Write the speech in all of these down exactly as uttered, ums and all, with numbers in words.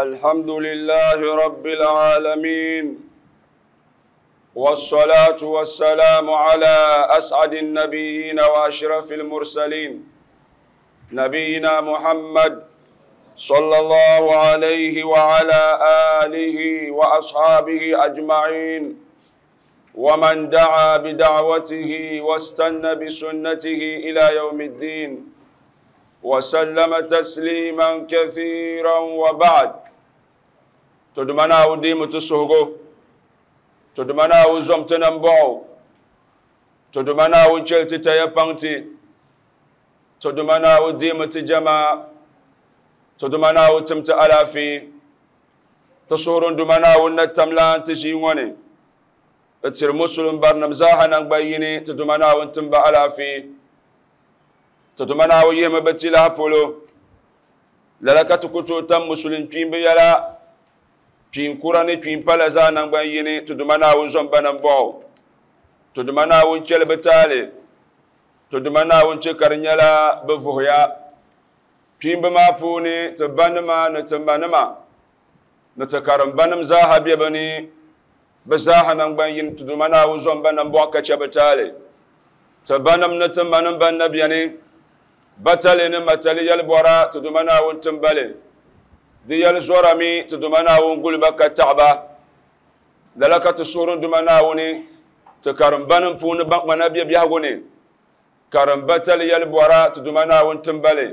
الحمد لله رب العالمين والصلاة والسلام على أسعد النبيين وأشرف المرسلين نبينا محمد صلى الله عليه وعلى آله وأصحابه أجمعين ومن دعا بدعوته واستنى بسنته إلى يوم الدين وسلم تسليما كثيرا وبعد تدمنا وديم تسهغو تدمنا وزمتنا مبعو تدمنا وجلت تيبانتي تدمنا وديم تجمع تدمنا وتمت ألافي تصور دمنا ونتملان تجيوني تصير مسلم برنم زاها نبيني تدمنا ونتم ألافي تدمنا ويهم بتلا بولو للك تكتو تم مسلم تيم بيلا تيم كوراني تيم بلزا نبيني تدمنا ونزم بنبعو تدمنا ونشل بتالي تدمنا ونشكرنيلا بفهيا تيم بما فوني تبنما نتبنما نتكرم بنم زاها بيبني بزاها نبين تدمنا ونزم بنبعو كشبتالي تبنم نتبنم بنبيني batali ni matali yɛlbɔra ti duma Naawuni timbali di yɛli zɔrami ti duma Naawuni guliba ka taɣaba lala ka ti suhuri duma Naawuni ti karimbanim puuni ban kpana bɛ biɛhigu ni karimbatali yɛlbɔra ti duma Naawuni timbali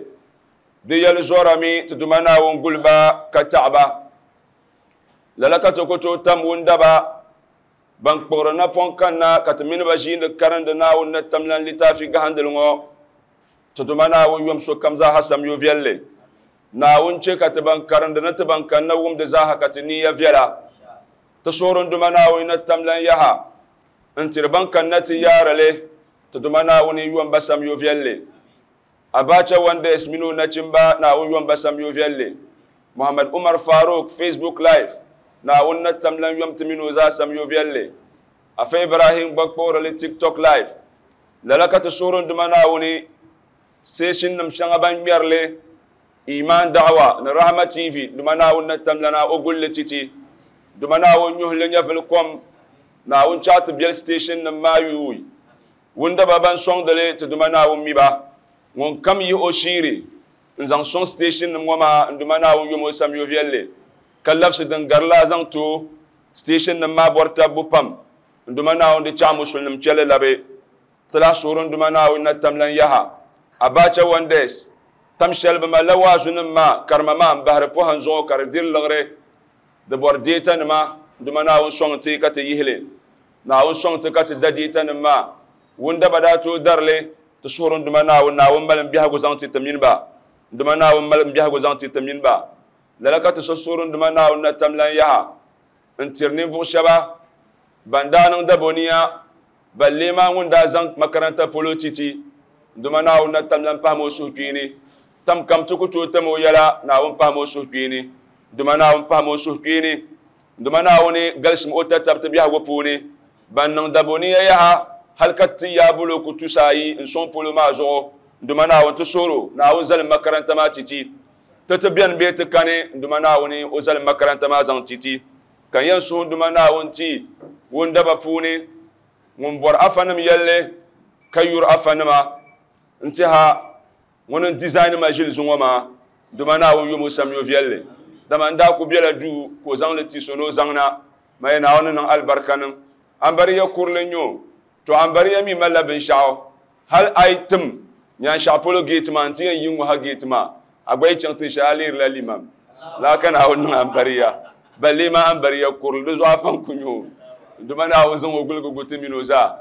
di yɛli zɔrami ti duma Naawuni guliba ka taɣaba lala ka ti ku tooi tam wundaba ban kpuɣiri napɔŋ kanna ka ti mini ba ʒiindi karindi Naawuni ni tamlan litaafi gahindili ŋɔ تدمنا Naawuni yom sokam zaaha samyo viɛlli Naawuni che ka ti ban karindi ni ti ban kanna wumdi zaaha ka ti niya viɛla ti suhuri duma Naawuni ni tamlan yaha n tiri ban kanna ti yaarili ti duma Naawuni yom ba samyo viɛlli Abacha Wonders mini o nachimba Naawuni yom ba samyo viɛlli Muhammad Umar Farooq Facebook Live Naawuni ni tamlan yom ti mini o zaa samyo viɛlli Afa Ibrahim gba kpuɣirili TikTok Live lala ka ti suhuri duma Naawuni station nim shɛŋa ban ŋmɛrili Iman Da'wa ni Rahma T V duma Naawuni ni tamlana o gulli titi duma Naawuni nyuhili nyɛvili kom Naawuni chaɣ ti beli station nim maa yuui wundaba ban sɔŋdili ti duma Naawuni miba ŋun kam yihi o shiiri n zaŋ sɔŋ station nim ŋɔ maa n duma Naawuni yom o samyo viɛlli ka labisi din gari la zaŋ to station nim maa bɔri tabbu pam n duma Naawuni di chaɣ musulinim chɛli labi ti lahi suhuri n duma Naawuni na tamlan yaha Abacha Wonders tam shɛli bi malila waazu nim maa karima maa n bahiri pɔhim zuɣu ka di diri liɣiri di bɔri deeta nima duma Naawuni sɔŋ ti ka ti yihili Naawuni sɔŋ ti ka ti da deeta nim maa wundaba daa tooi darili ti suhuri duma Naawuni Naawuni mali n biɛhigu zaŋ ti ti mini ba duma Naawuni mali n biɛhigu zaŋ ti ti mini ba lala ka ti so suhuri duma Naawuni na tamlan yaha n tiri ninvuɣu shɛba ban daa niŋ daboniya ballee maa ŋun daa zaŋ makaranta polo titi duma Naawuni na tamlan pahimi o suhukpeeni tam kam ti ku tooi tam o yɛla Naawuni pahimi o suhukpeeni duma Naawuni pahimi o suhukpeeni duma Naawuni galisim o tatabti biɛhigu puuni ban niŋ daboniya yaha hali ka ti yaa bulooku tusa ayi n sɔŋ polo maa zuɣu duma Naawuni ti suhuro Naawuni zalim makaranta maa titi ti ti bɛni bee ti kani duma Naawuni o zalim makaranta maa zaŋ titi ka n yɛn suhu duma Naawuni ti wundaba puuni ŋun bɔri afanim yɛlli ka yuri afanima n tiha ŋuni n design ma ʒili zuŋɔ maa duma Naawuni yom o samyo viɛlli dama n daa ku bela duu ka o zaŋli ti so ni o zaŋna ma yɛ Naawuni niŋ alibarika niŋ ambariya kurili n nyɛ to ambariya mi malila binshaɣu hali a yi tim nyaanshɛɣu polo geeti maa n ti yɛn yi ŋɔ ha geeti maa a gba yi chaŋ tin shɛli a lihirila limam laa ka Naawuni niŋ ambariya ballee maa ambariya kurili di zuɣu afa n ku nyɛ o duma Naawuni zaŋ o guligi gu ti mini o zaa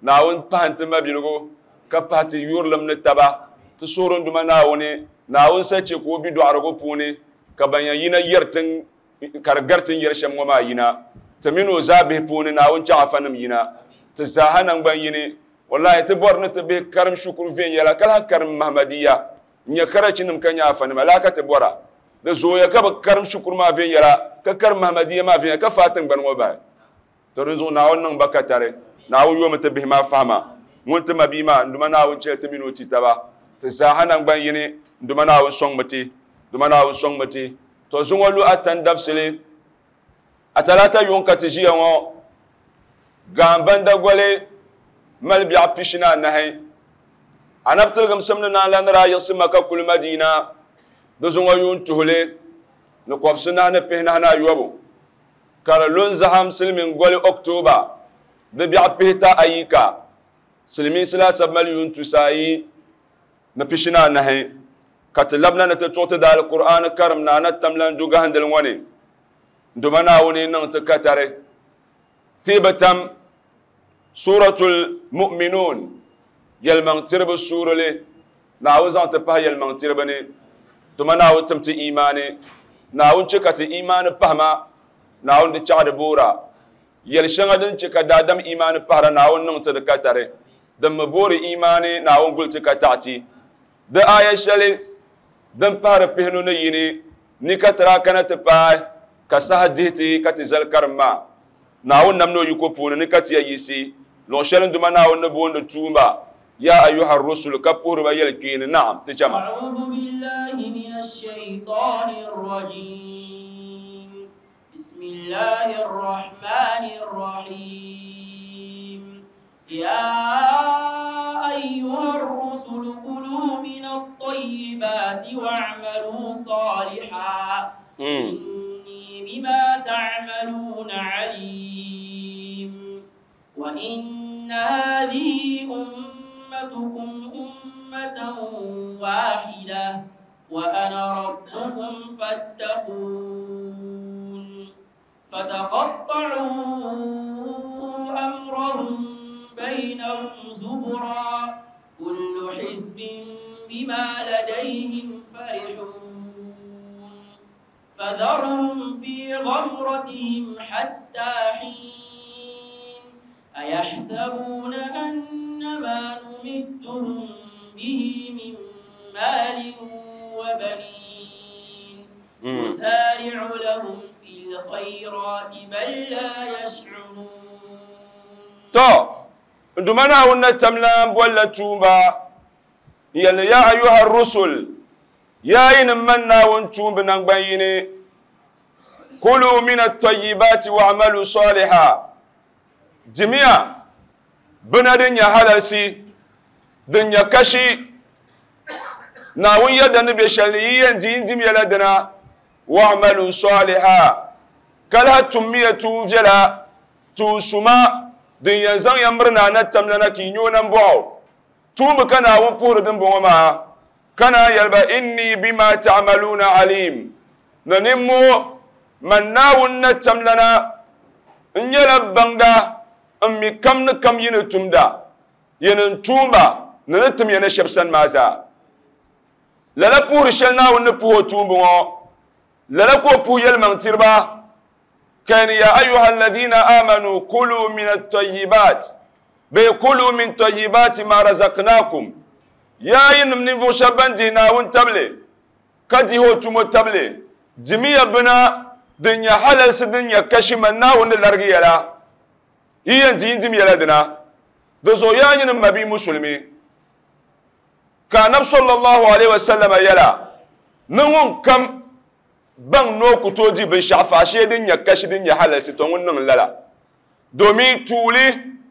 Naawuni pahi n ti mabiligu ka pahi ti yurilim ni taba ti suhuri duma Naawuni Naawuni sa che ka o bi dɔɣirigu puuni ka ban yɛn yina yɛri tin ka di gari tin yɛri shɛm ŋɔ maa yina ti mini o zaa bihi puuni Naawuni chaɣ afanim yina ti zaaha nangban yini wallahi ti bɔri ni ti bihi karim shukuru viɛnyɛla ka lahi karim Mahmadiya n nyɛ karachinim ka nyɛ afanima laa ka ti bɔra di zooya ka bi karim shukuru maa viɛnyɛla ka karim Mahmadiya maa viɛnyɛla ka faai tingbani ŋɔ bahi to di zuɣu Naawuni niŋ ba katari Naawuni yomi ti bihi maa fahama ŋun ti ma bia maa n duma Naawuni chɛli ti mini o ti taba ti zaaha nangban yini n duma Naawuni sɔŋmi ti duma Naawuni sɔŋmi ti To zuŋɔ lu atan dabsili a talata yuŋ ka ti ʒiya ŋɔ gaambanda goli mali biɛɣu pishi ni anahi anabi tiligim simdi naan la ni daa yiɣisi Maka kuli Madina di zuŋɔ yuun tuhili ni kɔbisi nahi ni pihinahi ni ayɔbu ka di lu n-zaham silimiin goli October di biɛɣu pihita ayi ka silimiinsi laasabu mali yuun tusa ayi ni pishi ni anahi ka ti labina ni ti tuɣi ti daali Qur'an karim na ana tamlan du gahindili ŋɔ ni nduma Naawuni niŋ ti katari ti bi tam Suratul Mu'minun yɛlimaŋ tiribi suurili Naawuni zaŋ ti pahi yɛlimaŋ tiribi ni nduma Naawuni tim ti imaani Naawuni che ka ti imaani pahima Naawuni di chaɣi di boora yɛli shɛŋa din che ka daadam imaani pahira Naawuni niŋ ti di katari din mi boori imaani Naawuni guli ti ka taɣi ti di aya shɛli din pahiri pihinu ni yini ni ka tira kana ti paai ka saha dihi ti ka ti zali karim maa Naawuni nam ni o yiko puuni ni ka ti ya yiɣisi luɣ shɛli nduma Naawuni ni booni tuumba ya ayuha rusul ka puhiriba yɛli kpeeni naam ti chama. أعوذ بالله من الشيطان الرجيم بسم الله الرحمن الرحيم يا أيها الرسل كلوا من الطيبات واعملوا صالحا إني بما تعملون عليم وإن هذه أمتكم أمة واحدة وأنا ربكم فاتقون فتقطعوا أمرهم بينهم زبرا كل حزب بما لديهم فرحون فذرهم في غمرتهم حتى حين أيحسبون أن ما نمدهم به من مال وبنين نسارع لهم في الخيرات بل لا يشعرون. To nduma Naawuni na tamlan bolla tuumba yɛli ya ayuha rusul ya yinim man Naawuni tuumbi naŋgban yini kulu min at-tayyibati wa'malu salihan dimiya bina din nyɛ halalsi din nyɛ kashi Naawuni yɛda ni be shɛli ni yi yɛn di yin dim yɛla dina wa'malu salihan ka lahi tummiya tuun viɛla tuun suma din yɛn zaŋ ya miri na ana tamlana ka yi nyɛ o nambɔɣu tuumbi ka Naawuni puhiri din bɔŋɔ maa ka naan yɛli ba inni bima ta'maluna alim ni nimmoo man Naawuni na tamlana n nyɛla baŋda n mi kam ni kam yi ni tumda yɛn n tuumba ni ni tim ya ni shɛba sani maa zaa lala puhiri shɛli Naawuni ni puhi o tuumbi ŋɔ lala ka o puhi yɛlimaŋ tiriba كان يا أيها الذين آمنوا كلوا من الطيبات بكلوا من طيبات ما رزقناكم يا إنم نفو شبان دينا وانتبلي كدي هو تمو تبلي جميع بنا دنيا حلال سدنيا كشمنا ونلرغي لا هي دين دم يلا دنا دزو يا إنم مبي مسلمي كان صلى الله عليه وسلم يلا نون كم baŋ ni o ku tooi di binshaɣu faashee din nyɛ kashi din nyɛ halalsi to ŋun niŋ lala domin tuuli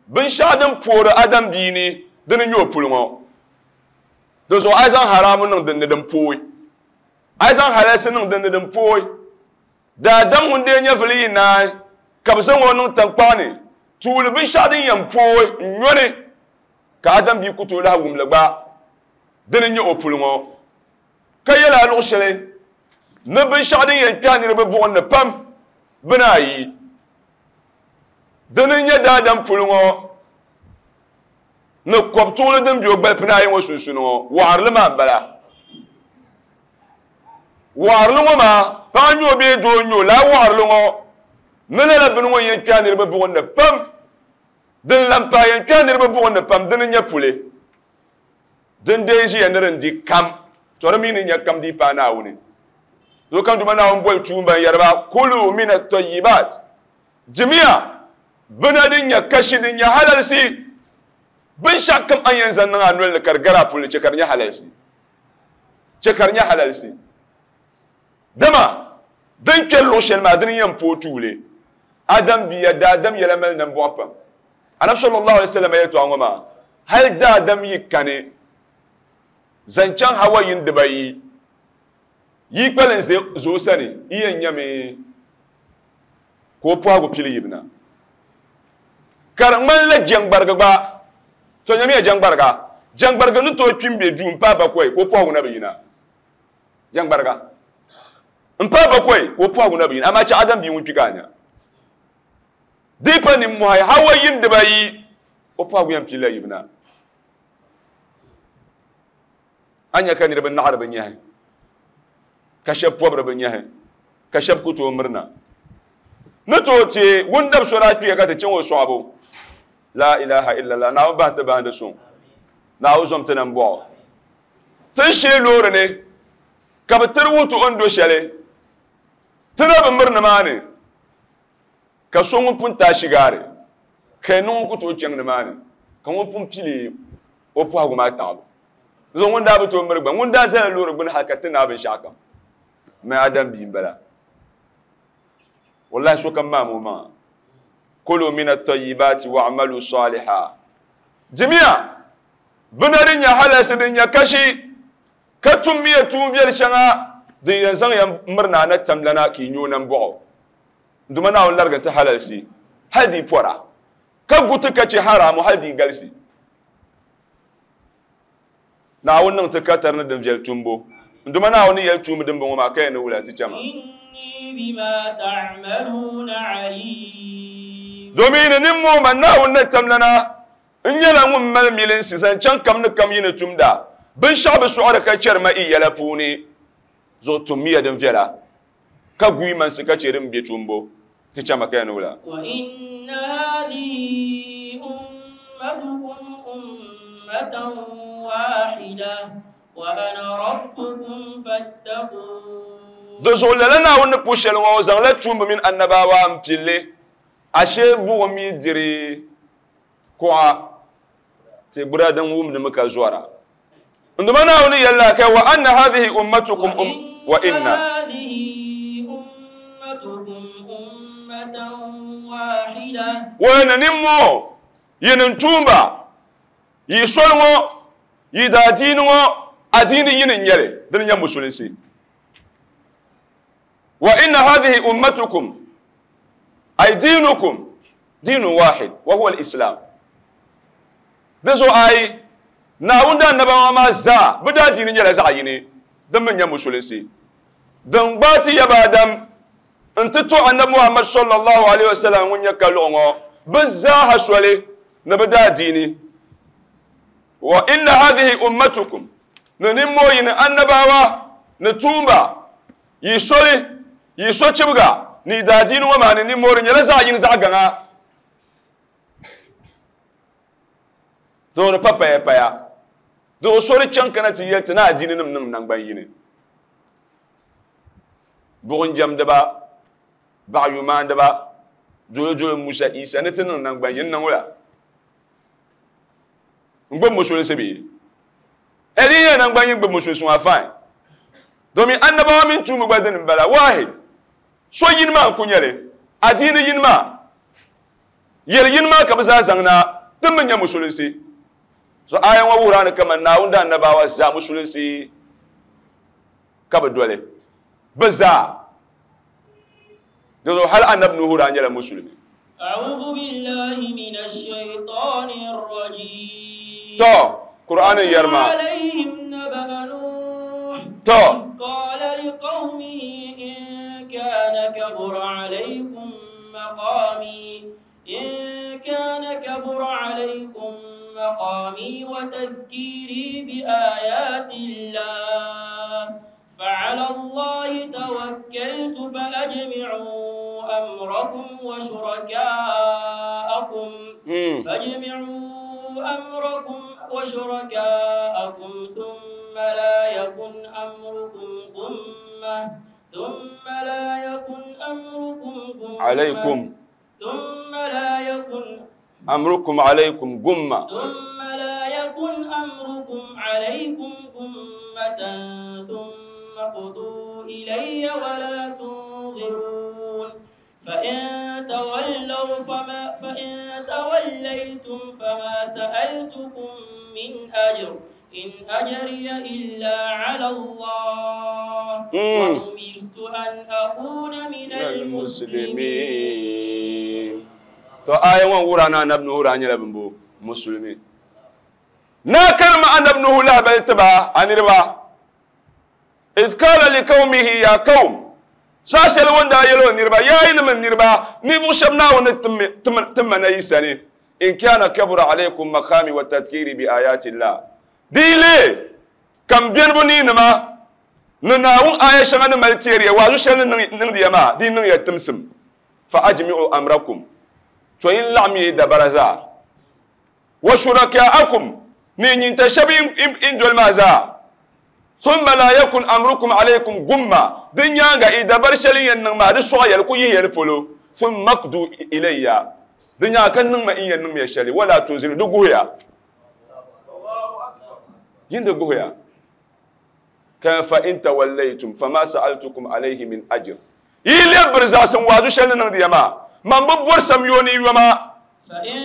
binshaɣu din poori adam bia ni dini nyɛ o puli ŋɔ di zuɣu a yi zaŋ haramu niŋ dinni din pooi a yi zaŋ halalsi niŋ dinni din pooi daadam ŋun dee nyɛvili yi naai ka bi zaŋ o niŋ tankpaɣu ni tuuli binshaɣu din yɛn pooi n nyɔni ka adam bia ku tooi lahi wumli gba dini nyɛ o puli ŋɔ ka yɛla a luɣu shɛli ni binshaɣu din yɛn kpɛhi niriba buɣim ni pam bini ayi dini nyɛ daadam puli ŋɔ ni kɔbtuɣili din be o gbali pini ayi ŋɔ sunsuuni ŋɔ waɣarili maa m-bala waɣarili ŋɔ maa paɣa nyɛ o bee doo nyɛ o lala waɣarili ŋɔ ni lala bini ŋɔ yɛn kpɛhi niriba buɣim ni pam din lan pahi yɛn kpɛhi niriba buɣim ni pam dini nyɛ puli din dee ʒiya ni din di kam to di mi ni nyɛ kam dii paai Naawuni do kam duma Naawuni boli tuumba n yɛri ba kulu min at-tayyibat jimiya bina din nyɛ kashi din nyɛ halalsi binshaɣu kam a yɛn zaŋ niŋ a noli ni ka di gari a puli che ka di nyɛ halalsi che ka di nyɛ halalsi dama Din kpɛri luɣu shɛli maa dini yɛn pooi tuuli. Adam bia daadam yɛla mali nambɔɣu pam. Anabi sallallahu alaihi wasallam yɛltɔɣa ŋɔ maa hali daadam yi kani zaŋ chaŋ hawa yin dibayi yi kpalim zuɣu sani yi yɛn nyɛmi ka o pɔhigu pili yibina ka di ŋmanila jɛŋgbariga gba to nyɛmiya jɛŋgbariga jɛŋgbariga ni tooi kpi m-be duu m-paai bakɔi ka o pɔhigu na bi yina jɛŋgbariga m-paai bakɔi ka o pɔhigu na bi yina amaa chɛ adam bia ŋun kpi ka a nya di pa nimmɔhi hawa yin dibayi o pɔhigu yɛn pilila yibina a nya ka niriba naɣiri bi nyahi ka shɛba pɔbiri bi nyahi ka shɛba ku tooi mirina ni tooi teei wundab so daa kpiya ka ti chaŋ o sɔɣibu la ilaha illallah Naawuni bahi ti bahindi suŋ Naawuni zom ti nambɔɣu tin shee loori ni ka bi tiri wuhi ti o ni do shɛli ti na bi miri nimaani ka so ŋun pun taai shigaari ka yi niŋ ku tooi chaŋ nimaani ka ŋun pun pili o pɔhigu maa taɣibu zuɣu ŋun daa bi tooi miri gba ŋun daa zala loori gbuni hali ka ti naai binshɛɣu kam mɛ adam bia m-bala wallahi sokam maam o maŋa kulu min at-tayyibati wa'malu salihan dimiya bina din nyɛ halalsi din nyɛ kashi ka tummiya tuun viɛli shɛŋa din yɛn zaŋ ya mirina a na tamlana ka yi nyɛ o nambɔɣu duma Naawuni larigi ti halalsi hali di pɔra ka gu ti ka chɛ haramu hali di galisi Naawuni niŋ ti katari ni din viɛli tumbu duma Naawuni ni yɛli tuumi din bɔŋɔ maa ka yɛn ni wula ti chɛma domin ni nimmoo ma Naawuni na tamlana n nyɛla ŋun mali milinsi zaŋ chaŋ kam ni kam yi ni tumda binshɛɣu bi sɔɣiri ka chɛri ma i yɛla puuni zuɣu tummiya din viɛla ka guyi mansi ka chɛ din be tumbu ti chɛma ka yɛn ni wula di zuɣu lala Naawuni ni pu shɛli ŋɔ o zaŋla tuumba mini annabawa m-pilli ashee buɣum yi diri kuɣa ti gbura din wumdimi ka zɔra nduma Naawuni yɛlila ka wa anna hadhihi ummatukum um wa inna wa ni nimmoo yinin tuumba yi soli ŋɔ yi daadiini ŋɔ adiini yini n-nyɛli dini nyɛ musulinsi wa inna hadhihi ummatukum ay diinukum diinun wahid wa huwa al-islam di zuɣu ayi Naawuni daa annabawa maa zaa bɛ daa diini nyɛla zaɣ yini din mi nyɛ musulinsi din gbaai ti yaba Adam n-ti to annabi Muhammad sallallahu alaihi wasallam ŋun nyɛ kaluɣu ŋɔ bɛ zaaha soli ni bɛ daa diini wa inna hadhihi ummatukum ni nimmoo yini annabawa ni tuumba yi soli yi sochibiga ni daa diini ŋɔ maa ni nimmoo di nyɛla zaɣ yini zaɣ gaŋa di pa paya paya di o soli chaŋ kana ti yɛli ti ni adiini nim niŋ nangban yini buɣum jɛmdiba baɣayumaandiba dolo dolo Musa Isa ni ti niŋ nangban yini niŋ wula n gbubi musulinsi bee di nyɛ nangban yini gbubi musulinsi maa fine domin annabawa mini tuumba gba dini m-bala wahid so yini maa n-ku nyɛli adiini yini maa yɛli yini maa ka bɛ zaa zaŋ na din mi nyɛ musulinsi so aya ŋɔ wuhira ni kaman Naawuni daa annabawa zaa musulinsi ka bɛ doli bɛ zaa di zuɣu hali annabi Nuhu daa nyɛla musulimi to Qur'an yɛrima to إن كان كبر عليكم مقامي وتذكيري بآيات الله فعلى الله توكلت فأجمعوا أمركم وشركاءكم فأجمعوا أمركم وشركاءكم ثم لا يكن أمركم غمة ثم لا يكن أمركم غمة عليكم ثم لا يكن أمركم عليكم غمة ثم لا يكن أمركم عليكم غمة ثم ثم اقضوا إلي ولا تنظرون فإن تولوا فما فإن توليتم فما سألتكم من أجر إن أجري إلا على الله وأمرت أن أكون من المسلمين. To aya ŋɔ wura na anabi Nuhu daa nyɛla bimbo musulmi. Na karima anabi Nuhu lahabali tiba a niriba. Idh qala liqawmihi ya qawm. Saa shɛli ŋun daa yɛli o niriba yaa yinim n niriba ninvuɣu shɛba Naawuni timma na yi sani in kana kabura alaykum maqami wa tadhkiri bi ayati llah. Di yi lee ka m benibu ni nima ni Naawuni aya shɛŋa ni mali teeriya waazu shɛli ni niŋdiya maa di niŋ ya timsim fa ajmi'u amrakum to yin laɣim yi dabara zaa wa shuraka'akum ni nyinta shɛba in doli maa zaa thumma la yakun amrukum alaykum gumma din nyaaŋa i dabari shɛli yɛn niŋ maa di sɔɣa yɛli ku yihi yɛli polo thumma qdu ilayya din nyaaŋa ka niŋ ma in yɛn niŋ ya shɛli wala tunziru di guhiya yin di guhiya ka fa in tawallaytum fama sa'altukum alayhi min ajr yi lebiri zaɣasim waazu shɛli ni niŋdiya maa man bi bɔri samyo ni yoma فإن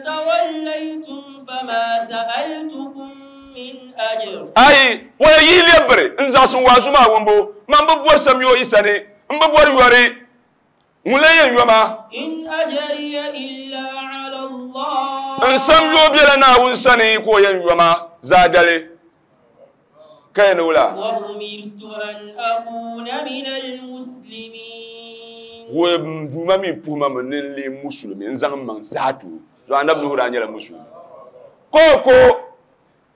توليتم فما سألتكم من أجر ai wala yi lebiri n zaɣasim waazu maa wumbu man bi bɔri samyo yi sani n bi bɔri yɔri ŋun la yɛn yoma إن أجري إلا على الله n samyo bela Naawuni sani ka o yɛn yoma zaadali ka yɛn wula وأمرت أن أكون من المسلمين wo duuma mi puhima mi ni n lee musulmi n zaŋ n maŋ zaatu so anabi Nuhu daa nyɛla musulmi ko ko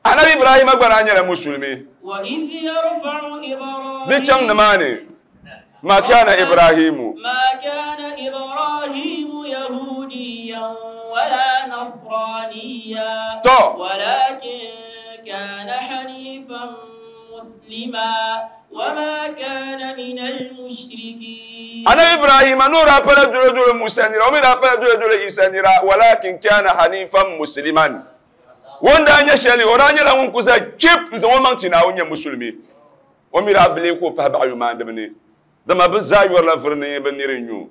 anabi Ibrahima gba daa nyɛla musulmi وإذ يرفع إبراهيم di chaŋ nimaani ma kana Ibrahimu ما كان إبراهيم يهوديا ولا نصرانيا to ولكن كان حنيفا مسلما وما كان من المشركين anabi Ibrahima n'o daa pala dole dole Musa nira o mi daa pala dole dole Isa nira walakin kana hanifan musliman wanda nyɛ shɛli o daa nyɛla ŋun kusa chip n zaŋ o maŋ ti Naawuni nyɛ musulmi o mi daa bile ka o pahi baɣa yumaandibi ni dama bɛ zaa yɔrila vuri ni bɛ niri n-nyu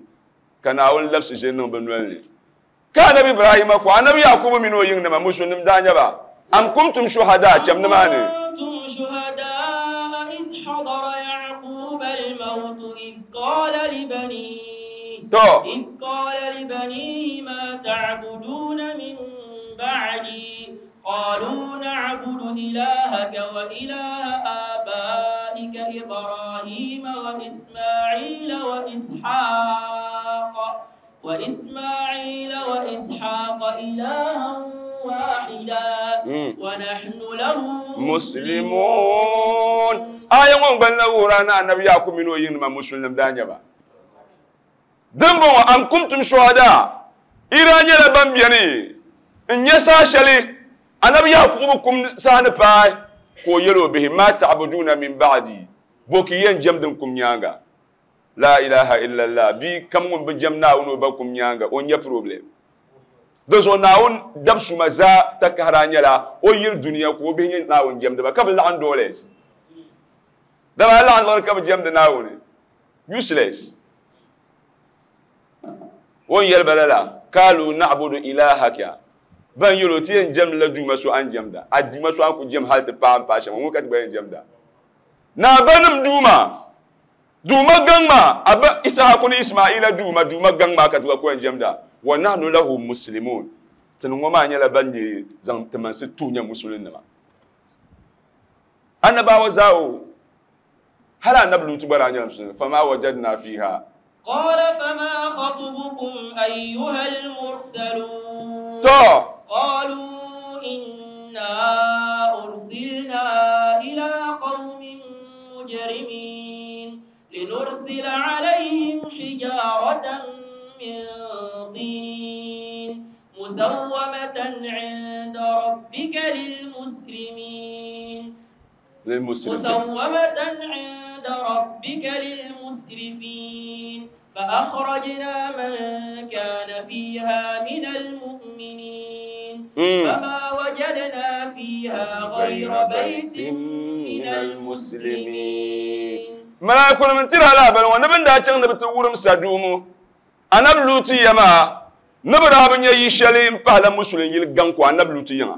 ka Naawuni labisi ʒe niŋ bɛ noli ni ka anabi Ibrahima ko anabi Yakubu mini o yiŋnima musulnim daa nyɛ ba am kuntum shuhada cham nimaani كنتم شهداء إذ حضر يعقوب الموت إذ قال لبنيه to إذ قال لبنيه ما تعبدون من بعدي قالوا نعبد إلهك وإله آبائك إبراهيم وإسماعيل وإسحاق وإسماعيل وإسحاق إلها واحدا Mm. ونحن له muslimun aya ŋɔ gbalina wuhira na anabi Yakubu mini o yiŋnima musulnim daa nyɛ ba din bɔŋɔ am kuntum shuhada ira nyɛla ban beni n nyɛ saa shɛli anabi Yakubu kum saha ni paai ka o yɛli o bihi ma ta'buduna min ba'di bo ki yɛn jɛm din kum nyaaŋa la ilaha illallah bi kam ŋun bi jɛm Naawuni o ba kum nyaaŋa o nyɛ problem di zuɣu Naawuni dabsuma zaa takahara nyɛla o yiri dunia ka o bihi nyɛ Naawuni jɛmdiba ka bi laɣim dollars dama a laɣim liɣiri ka bi jɛmdi Naawuni useless o ni yɛli ba lala kalu na'budu ilahaka ban yɛli o ti yɛn jɛmdila duuma so a ni jɛmda a duuma so a ni ku jɛm hali ti paai n paai shɛm ŋun ka ti gba yɛn jɛmda naa banim duuma duuma gaŋ maa a ba Isahaku ni Ismaila duuma duuma gaŋ maa ka ti gba ku yɛn jɛmda wa nahnu lahu muslimun tini ŋɔ maa nyɛla ban nyɛ zaŋ timansi tuhi nyɛ musulinnima annabawa zaa o hali anabi Lutu gba daa nyɛla musulmi fama wajadna fiha قال فما خطبكم أيها المرسلون to قالوا إنا أرسلنا إلى قوم مجرمين لنرسل عليهم حجارة من طين مسومة عند ربك للمسرمين للمسرفين مسومة عند ربك للمسرفين فأخرجنا من كان فيها من المؤمنين فما وجدنا فيها غير بيت من المسلمين ملائكة من ترى لا بل ونبن دا چنگ نبت ورم سدومو أنا بلوتي يما نبرا بن يشالي امبالا مسلم يل غانكو أنا بلوتي يما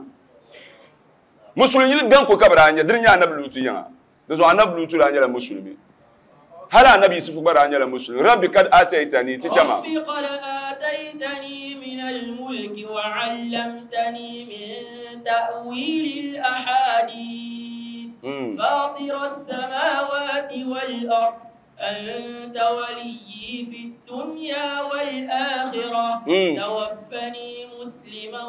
مسلم يل غانكو كبرا نيا درنيا أنا بلوتي يما دزو أنا بلوتي لا نيا مسلمي هل النبي يوسف برا نيا مسلم ربي قد آتيتني تجما ربي قد آتيتني من الملك وعلمتني من تأويل الأحاديث فاطر السماوات والأرض أنت وليي في الدنيا والآخرة توفني مسلما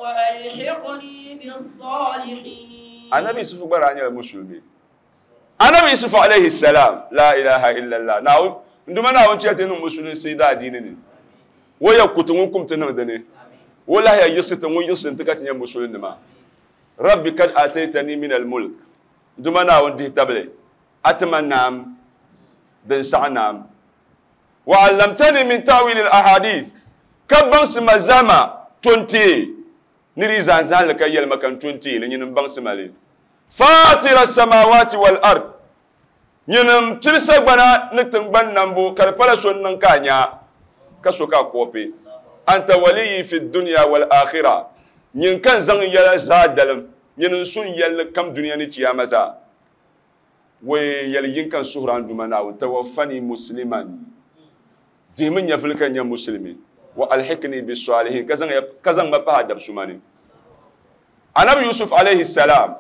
وألحقني بالصالحين. النبي يوسف برا نيا مسلمي النبي يوسف عليه السلام لا إله إلا الله ناو nduma na wonche tenu musulun sida dini ni wo ya kutu kum tenu dane wala ya yusita ngun yusin tikati nya musulun ma rabbi kad ataitani min al mulk nduma na wondi table atmanam den sa'nam wa 'allamtani min ta'wil al ahadith kabban simazama twenty niri zanzan ka yel makan twenty le nyin bang simale fatir as-samawati wal ard nyinam tilsa gbana ni tingban nambu kar pala son nan kanya kaso ka kope anta waliyi fi dunya wal akhirah nyin kan zan yala zadalam nyin sun yalla kam duniya ni kiyama za we yal yin kan suhran dumana wa tawaffani musliman dimin ya fulkan ya muslimi wa alhikni bis salihin kazan kazan mafa da sumani Anabi Yusuf alayhi salam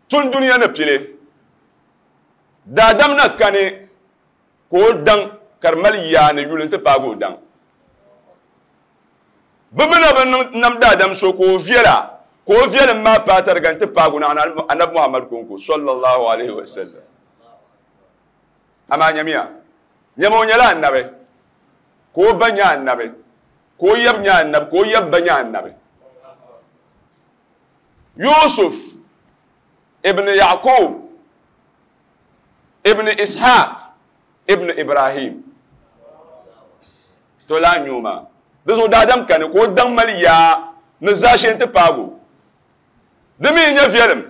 tun duniya na pile dadam na kane ko dan karmal ya ne yulin ta pago dan bimina ban nam dadam so ko viela ko viela ma patar gan ta pago na Annabi Muhammad konko sallallahu alaihi wasallam ama nyamiya nyamo nyala annabe ko banya annabe ko yab nya annabe ko yab banya annabe Yusuf ابن يعقوب ابن إسحاق ابن إبراهيم تولا نيوما دزو دادم كان كو دان ماليا نزاشين تباغو دمي نيا فيلم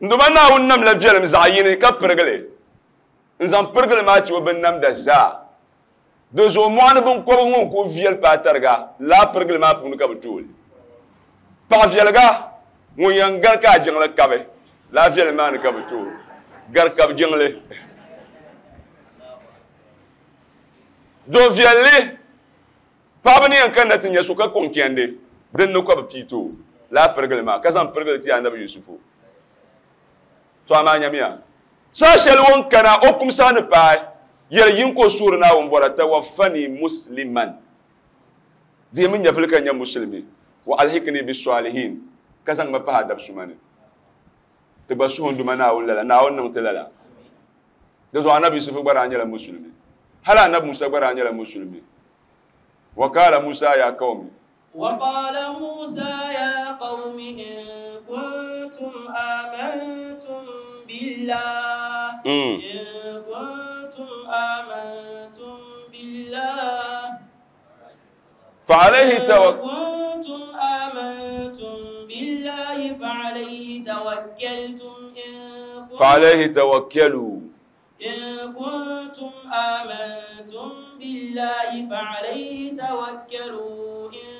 nduma na won nam la فيلم زايني ka pergele nzam pergele ma ci ben nam da za dozo mo na bon ko ngon ko viel pa targa la pergele ma punu ka butul pa vielga ngon yan gar ka jingle kabe la viel ma na ka butul gar ka jingle do vielle pa bani yan kan na tinya su ka konkende den no ko pito la pergele ma ka zam pergele ti Annabi Yusufu to ama nyamia sa shel won kana okum sa ne pa yel yin ko sura na won bora tawaffani musliman di min yafil kan ya muslimi wa alhikni bis salihin kazan ma pa dab sumani te ba suhun duma na won lala na won nan telala de zo Annabi Yusuf bara anyala muslimi hala Annabi Musa bara anyala muslimi wa qala Musa ya qaumi wa qala Musa ya qaumi in kuntum amantum billah in kuntum amantum billah fa alayhi tawakkal kuntum amantum billahi fa alayhi tawakkaltum in fa alayhi tawakkalu in kuntum amantum billahi fa alayhi tawakkalu in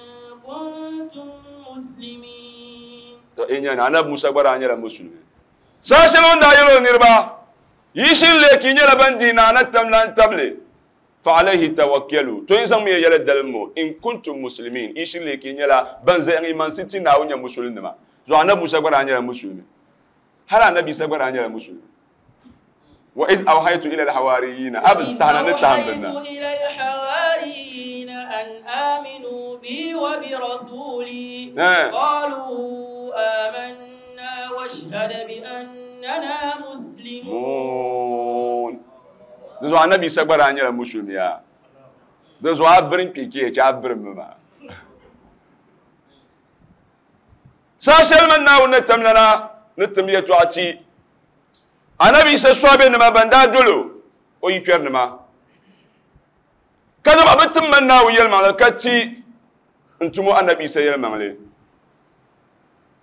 kuntum muslimin to inya na Annabi Musa bara anyala muslimi sashe wanda yelo nirba yishin le ki nyala bandi na na tamlan table fa alayhi tawakkalu to insan mi yela dalmo in kuntum muslimin yishin le ki nyala banza en iman siti na wonya muslimin ma zo Annabi Musa bara anyala muslimi hala Annabi Isa bara anyala muslimi wa iz awhaytu ila alhawariyina abz tahna nitahamdana ila alhawariyina an aminu bi wa bi rasuli qalu amanna washhad bi annana muslimun zo Annabi Isa bara anyala muslimi ya zo abrin kike cha abrin ma sashal man na wona tamlana nitamiyatu ati Annabi Isa swabe nima banda dolo o yikwer nima kada ba bitin man na wuyel ma kati N tumo annabi Isa yɛlimaŋli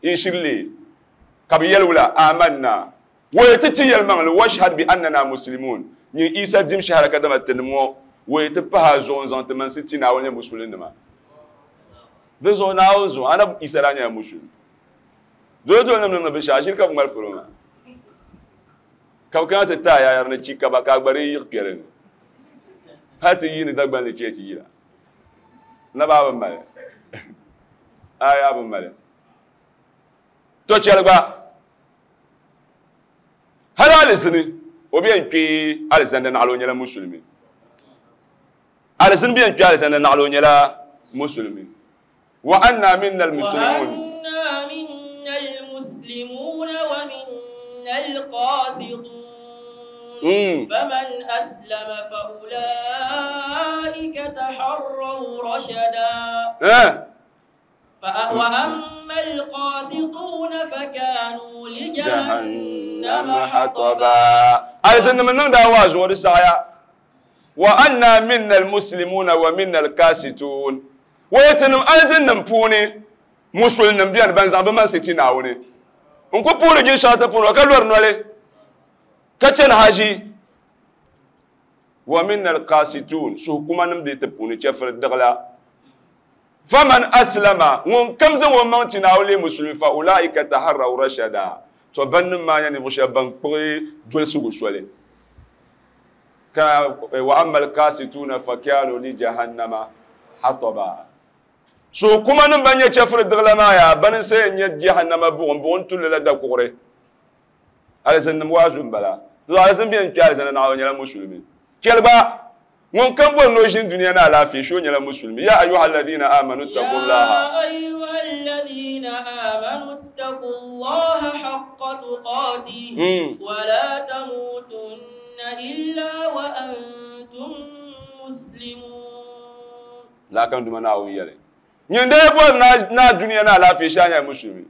n shiri ka bi yɛli wula amanna wa ti ti yɛlimaŋli washhad bi annana muslimun nyin Isa dim shahara ka dama tinim ŋɔ wa ti pahi a zuɣu n zaŋ ti mansi ti Naawuni nyɛ musulinima di zuɣu Naawuni zuɣu anabi Isa daa nyɛla musulimi dole dole nim niŋdi binshaɣu shiri ka bi ŋmali polo maa ka bi kana ti taai yaayari ni chi kaba ka a gba di yiɣi kpɛri ni hali ti yiini Dagbanli cheechi yila na baa bi mali aya bi mali to chɛli gba hali alizini o bɛ n kpe alizanda naɣala o nyɛla musulimi alizini bɛ n kpe alizanda naɣala o nyɛla musulimi wa anna minna almuslimun wa anna minna almuslimuna wa minna alqasitun faman aslama fa ulaika taharraw rashada وأما القاسطون فكانوا لجهنم حطبا ألزم من نون دعوة زور السعيا وأنا منا المسلمون ومنا القاسطون ويتنم ألزم نمبوني مسلم نبيان بنزع بما ستين عوني نكو بوري جين شاطة بوني وكالور نولي كتشن حاجي ومنا القاسطون سو كما نمدي تبوني تشفر الدغلا فمن أسلم ون كم زن ومن تناولي مسلم فأولئك تحروا رشدا تبن ما يعني مش بنقري جل سوق شوالي وأما القاسطون فكانوا لجهنم حطبا سو كما نبني تشفر الدغلا ما يا بن سي جهنم بون بون تول لا دكوري على سن موازن بلا لازم بين كار سن ناو نيلا مسلمين كلبا ŋun kam bɔri ni o ʒini dunia ni alaafee shi o nyɛla musulmi ya ayuha alladhina amanu ittaqullaha ya ayuha alladhina amanu ittaqullaha haqqa tuqatihi wa la tamutunna illa wa antum muslimun la kam duma Naawuni yɛli nyin dee bɔri na dunia ni alaafee shi a nyɛla musulmi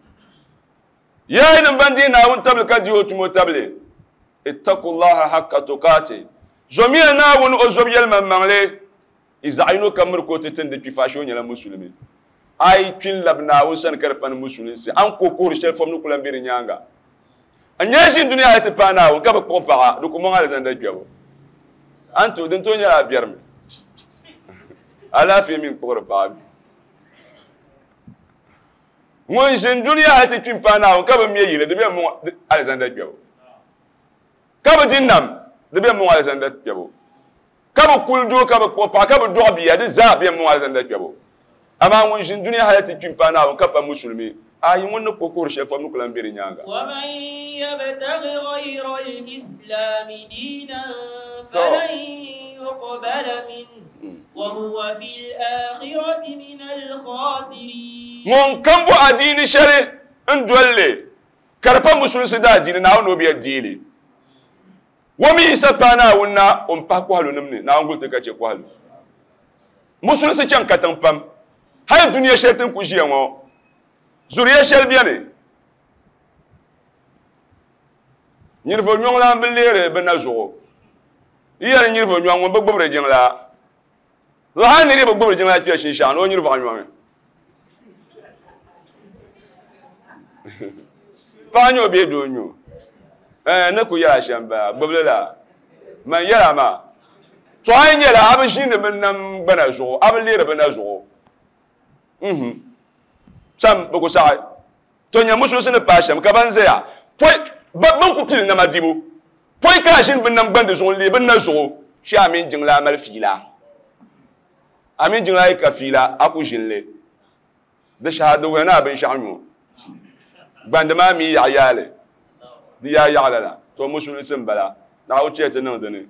ya yinim ban dii Naawuni tabili ka di o tumo tabili ittaqullaha haqqa tuqatihi zomiya Naawuni o zob yɛlimaŋmaŋli i zaɣ yino kam miri ka o ti tindi kpifa shi o nyɛla musulimi a yi kpi n labi Naawuni sani ka di pani musulinsi an ko kuhiri shɛli fom ni ku lan be di nyaaŋa n nyɛ ʒini dunia hali ti paai Naawuni ka bi kpuɣi paɣa di ku mɔŋ alizanda kpɛbu an to din tooi nyɛla a biɛrimi alaafee mi n kpuɣiri paɣa bi ŋun ʒini dunia hali ti kpi n paai Naawuni ka bi me yili di be mɔŋ alizanda kpɛbu ka bi di nam di bɛ mɔŋ alizanda kpɛbu ka bi kuli doo ka bi kpuɣi paɣa ka bi dɔɣi bia di zaa bɛ mɔŋ alizanda kpɛbu amaa ŋun ʒini dunia hali ti kpi n paai Naawuni ka pa musulimi ayi ŋun ni kpuɣi kuhiri shɛli fom ni ku lan be di nyaaŋa ومن يبتغ غير الإسلام دينا فلن يقبل منه وهو في الآخرة من الخاسرين ŋun kam bo adiini shɛli n doli li ka di pa musulinsi daa diini Naawuni o bi diili wami Isa paai Naawuni na o n pahi kɔhilu nim ni Naawuni guli ti ka chɛ kɔhilu musulinsi chaŋ katiŋ pam hali dunia shɛli tin ku ʒiya ŋɔ zuriya shɛli beni niriba nyɔŋ lan bi leeri bi na zuɣu yi yɛli niriba nyɔŋ ŋun bi gbubiri jiŋla hali niriba bi gbubiri jiŋla kpɛ shinshaɣu ni o niriba nyɔŋi paɣa nyɛ o bee doo nyɛ o ne ku yɛla shɛm bala gbubili la man yɛla maa to a yi nyɛla a bi ʒiindi bi nam gbana zuɣu a bi leeri bi na zuɣu sam bi ku saɣi to nyɛ musulinsi ni paai shɛm ka ban ʒɛya pɔi bin ku pili nama dibu pɔi ka a ʒini bi nam gbandi zuɣu n lee bi na zuɣu shi a mini jiŋlaa mali fiila a mini jiŋlaa yi ka fiila a ku ʒini li di shɛha di wuhi ni a binshaɣu nyo gbandi maa mi yaɣa yaali di yaa yaɣa lala to musulinsi n bala Naawuni chɛ ti niŋ dini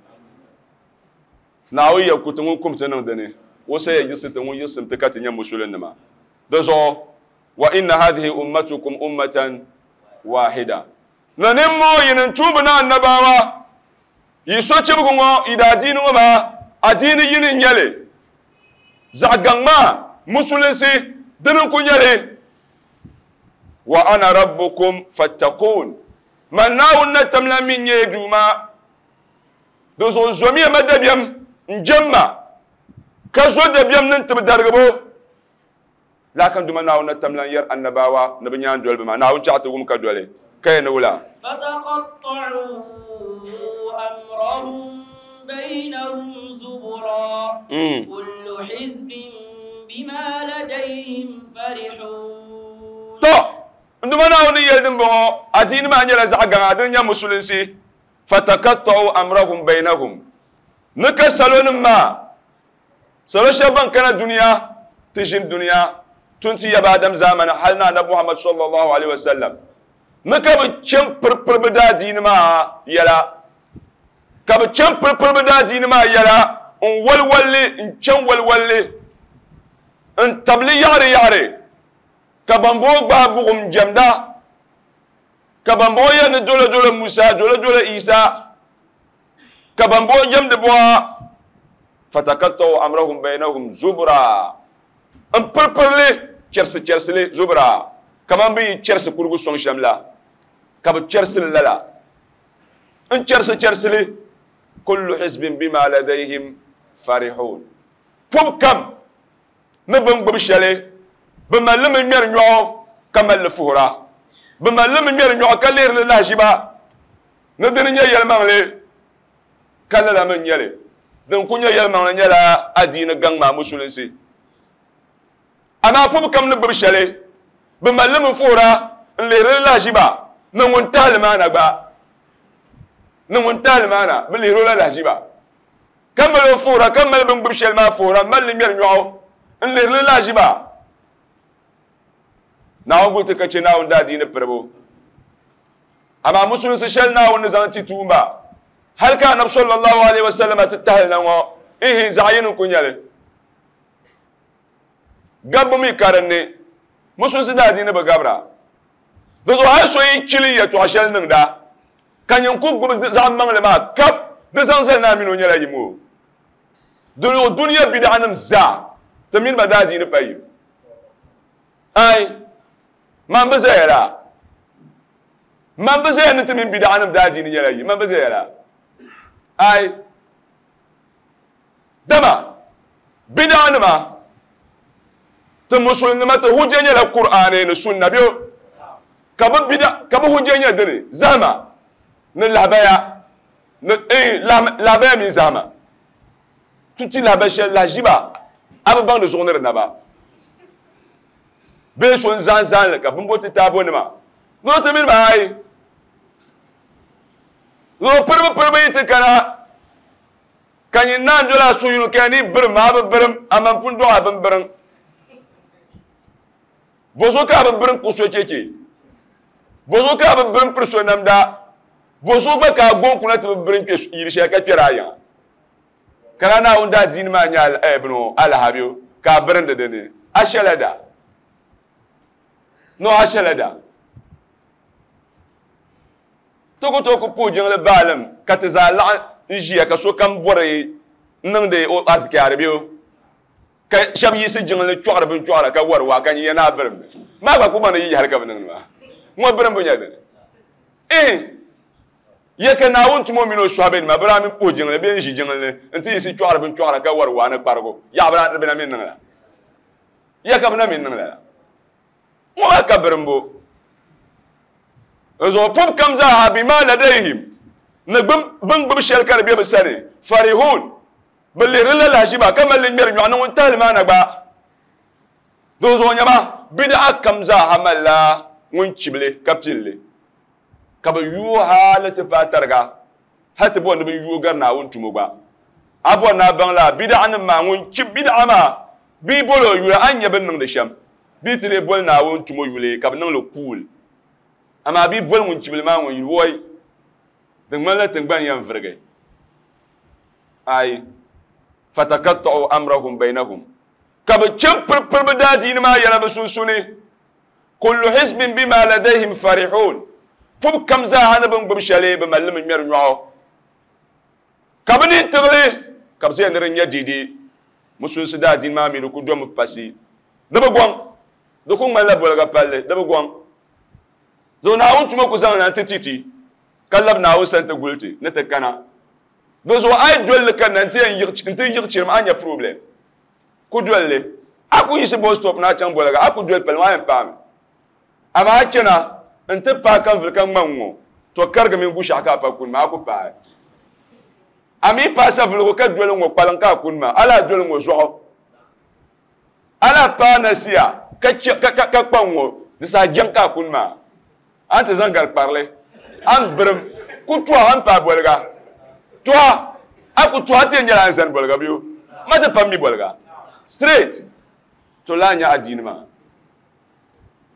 Naawuni yɛ ku ti ŋun kum ti niŋ dini o sa yɛ yiɣisi ti ŋun yiɣisim ti ka ti nyɛ musulinima di zuɣu wa inna hadhihi ummatukum ummatan wahida na nimmo yinin tuubi na annabawa yi so chibigu ŋɔ yi daa diini ŋɔ maa adiini yini n nyɛli zaɣ gaŋ maa musulinsi dini n ku nyɛli wa ana rabbukum fattaqun man Naawuni na tamla min nyɛ duuma di zuɣu zomiya ma dabiɛm n jɛm ma ka zo dabiɛm ni n tibi darigibu Lakin duma naawuni tamlan yar annabawa ni bi nyaan doli bi ma naawuni chaɣa ti wum ka doli ka yɛ ni wula فتقطعوا أمرهم بينهم زبرا كل حزب بما لديهم فرحون to nduma naawuni yɛli din bɔŋɔ adiini maa nyɛla zaɣ gaŋa din nyɛ musulinsi fataqatta'u amrahum bainahum ni ka salonim maa salo shɛba ban kana duniya ti ʒini duniya tun ti yaba adam zamani hal na annabi Muhammad sallallahu alaihi wasallam ni ka bi chɛn piripiri bi daa diini maa yɛla ka bi chɛn piripiri bi daa diini maa yɛla n walwalli n chɛn walwalli n tabili yaɣari yaɣari ka bambɔŋɔ gbaai buɣum jɛmda ka bambɔŋɔ yɛli ni dolo dolo Musa dolo dolo Isa ka bambɔŋɔ jɛmdi buɣa fatakatta'u amrahum bainahum zubra n piripirili chɛrisi chɛrisili zubra kaman bi yi chɛrisi kurigu sɔŋ shɛm la ka bi chɛrisili lala n chɛrisi chɛrisili kullu hizbin bima ladayhim farihun pɔb kam ni bin gbubi shɛli bi malli mi ŋmɛri nyɔɣu ka malli fuhura bi malli mi ŋmɛri nyɔɣu ka lihiri li lahaʒiba ni dini nyɛ yɛlimaŋli ka lala mi nyɛli din ku nyɛ yɛlimaŋli nyɛla adiini gaŋ maa musulinsi amaa pɔb kam ni gbubi shɛli bi malli mi fuhura n lihiri li lahaʒiba ni ŋun tahali maa na gba ni ŋun tahali maa na bi lihiri o la lahaʒiba ka mali o fuhura ka mali bin gbubi shɛli maa fuhura malli ŋmɛri nyɔɣu n lihiri li lahaʒiba naawuni guli ti ka chɛ naawuni daa diini piribu amaa musulinsi shɛli naawuni ni zaŋ ti tuumba hali ka anabi sallallahu alaihi wasallam ti tahali na ŋɔ ihi zaɣ yini n ku nyɛli gabbu mi ka dinni musulinsi daa diini bi gabira di zuɣu hali so yi chili yɛltɔɣa shɛli niŋda ka nyin ku gbubi zaɣ maŋli maa kap di zaŋ zali naa mini o nyɛla yim o di zuɣu duniya bidaɣanim zaa ti mini ba daa diini pa yim ai man bi zaya la man bi zaya ni ti mini bidaɣanim daa diini nyɛla yim man bi zaya la ai dama bidaɣanima ti musulinima ti hujja nyɛla Qur'ani ni sunna bɛ ka bi bida ka bi hujja nyɛ dini zahama ni lahabaya ni eh lahabaya mini zahama tuti lahabaya shɛli lahaʒiba a bi baŋ di zuɣu ni di naba bee so n zaŋ zaŋli ka bimbo ti taabo nima ni o ti mini ba ayi ni o piribi piribi yi ti kana ka nyin naan doli a suhu yino ka ni birim a bi birim a man pun dɔɣi a bin birim bozo ka a bi birim ku so cheche bozo ka a bi birim piri so namda bozo gba ka a goon kuna ti bi birim kpe yili shɛli ka kpɛri a yiŋa ka na naawuni daa diini maa nyɛ bino alahabio ka a birindi dini a shɛla da no a shɛla da ti ku tooi ku puhi jiŋli baalim ka ti zaa laɣim n ʒiya ka sokam bɔri niŋdi o azikaari bɛ ka shɛba yiɣisi jiŋli chɔɣiri bin chɔɣira ka wari waa ka nyin ya naa birim maa gba ku baŋ ni yi hali ka bi niŋdi maa ŋɔ birim bi nyɛ dini eh ya ka naawuni tumo mini o sɔhibe nima bi daa mi puhi jiŋli bee n ʒi jiŋli ni n ti yiɣisi chɔɣiri bin chɔɣira ka wari waa ni kparigu yaɣa bi na mi niŋ la ya ka bi na mi niŋ la ŋɔ maa ka birimbo zuɣu pɔb kam zaaha bima ladayhim ni bin gbubi shɛli ka di bɛ bi sani farihun bi lihiri la lahaʒiba ka mali li ŋmɛri nyɔɣu ni ŋun tahali maa na gba di zuɣu nyɛma bidaɣa kam zaaha malila ŋun chibili ka pilli ka bi yuo hali ti paai tariga hali ti bɔri ni bi yuo gari naawuni tumo gba a bɔri ni a baŋ la bidaɣa nim maa ŋun chib bidaɣa maa bia boli o yuli a ni nyɛ bin niŋdi shɛm bia ti lee boli naawuni tumo yuli ka bi niŋli kuul amaa bia boli ŋun chibili maa ŋun yuli woi di ŋmanila tingbani yɛn virigi ai fatakatta'u amrahum bainahum ka bi chɛn piripiri bi daa diini maa yɛla bi sunsuuni kullu hizbin bima ladayhim farihun pɔb kam zaaha ni bin gbubi shɛli bi malli mi ŋmɛri nyɔɣu ka bi nin tiɣili ka bi zaya ni di nyɛ deedee musulinsi daa diini maa mi di ku domi pasi di bi gɔŋ di ku ŋmanila boliga palli di bi gɔŋ do naawuni tuma ku zaŋ na n ti titi ka labi naawuni sani ti guli ti ni ti kana di zuɣu a yi dolli ka na n ti yiɣi chirim a nya problem ku dolli A ku yiɣisi bus stop na chaŋ boliga a ku doli pali maa yɛn paami amaa a chana n ti paai ka vuli ka ŋma ŋ-ŋɔ to karigimi n gu shɛɣu ka a pa kuni maa a ku paai a mi paai savuligu ka doli ŋɔ kpaliŋ ka a kuni maa a lahi doli ŋɔ zuɣu a lahi paai nasiya ka ka kpa ŋɔ di saha jɛŋ ka a kuni maa a ni ti zaŋ gari kparili a ni birim ku tɔha a ni paai boliga tɔha a ku tɔha ti yɛn nyɛla a ni zani boliga bɛ ma ti pam mi boliga straight to lahi nyɛ adiini maa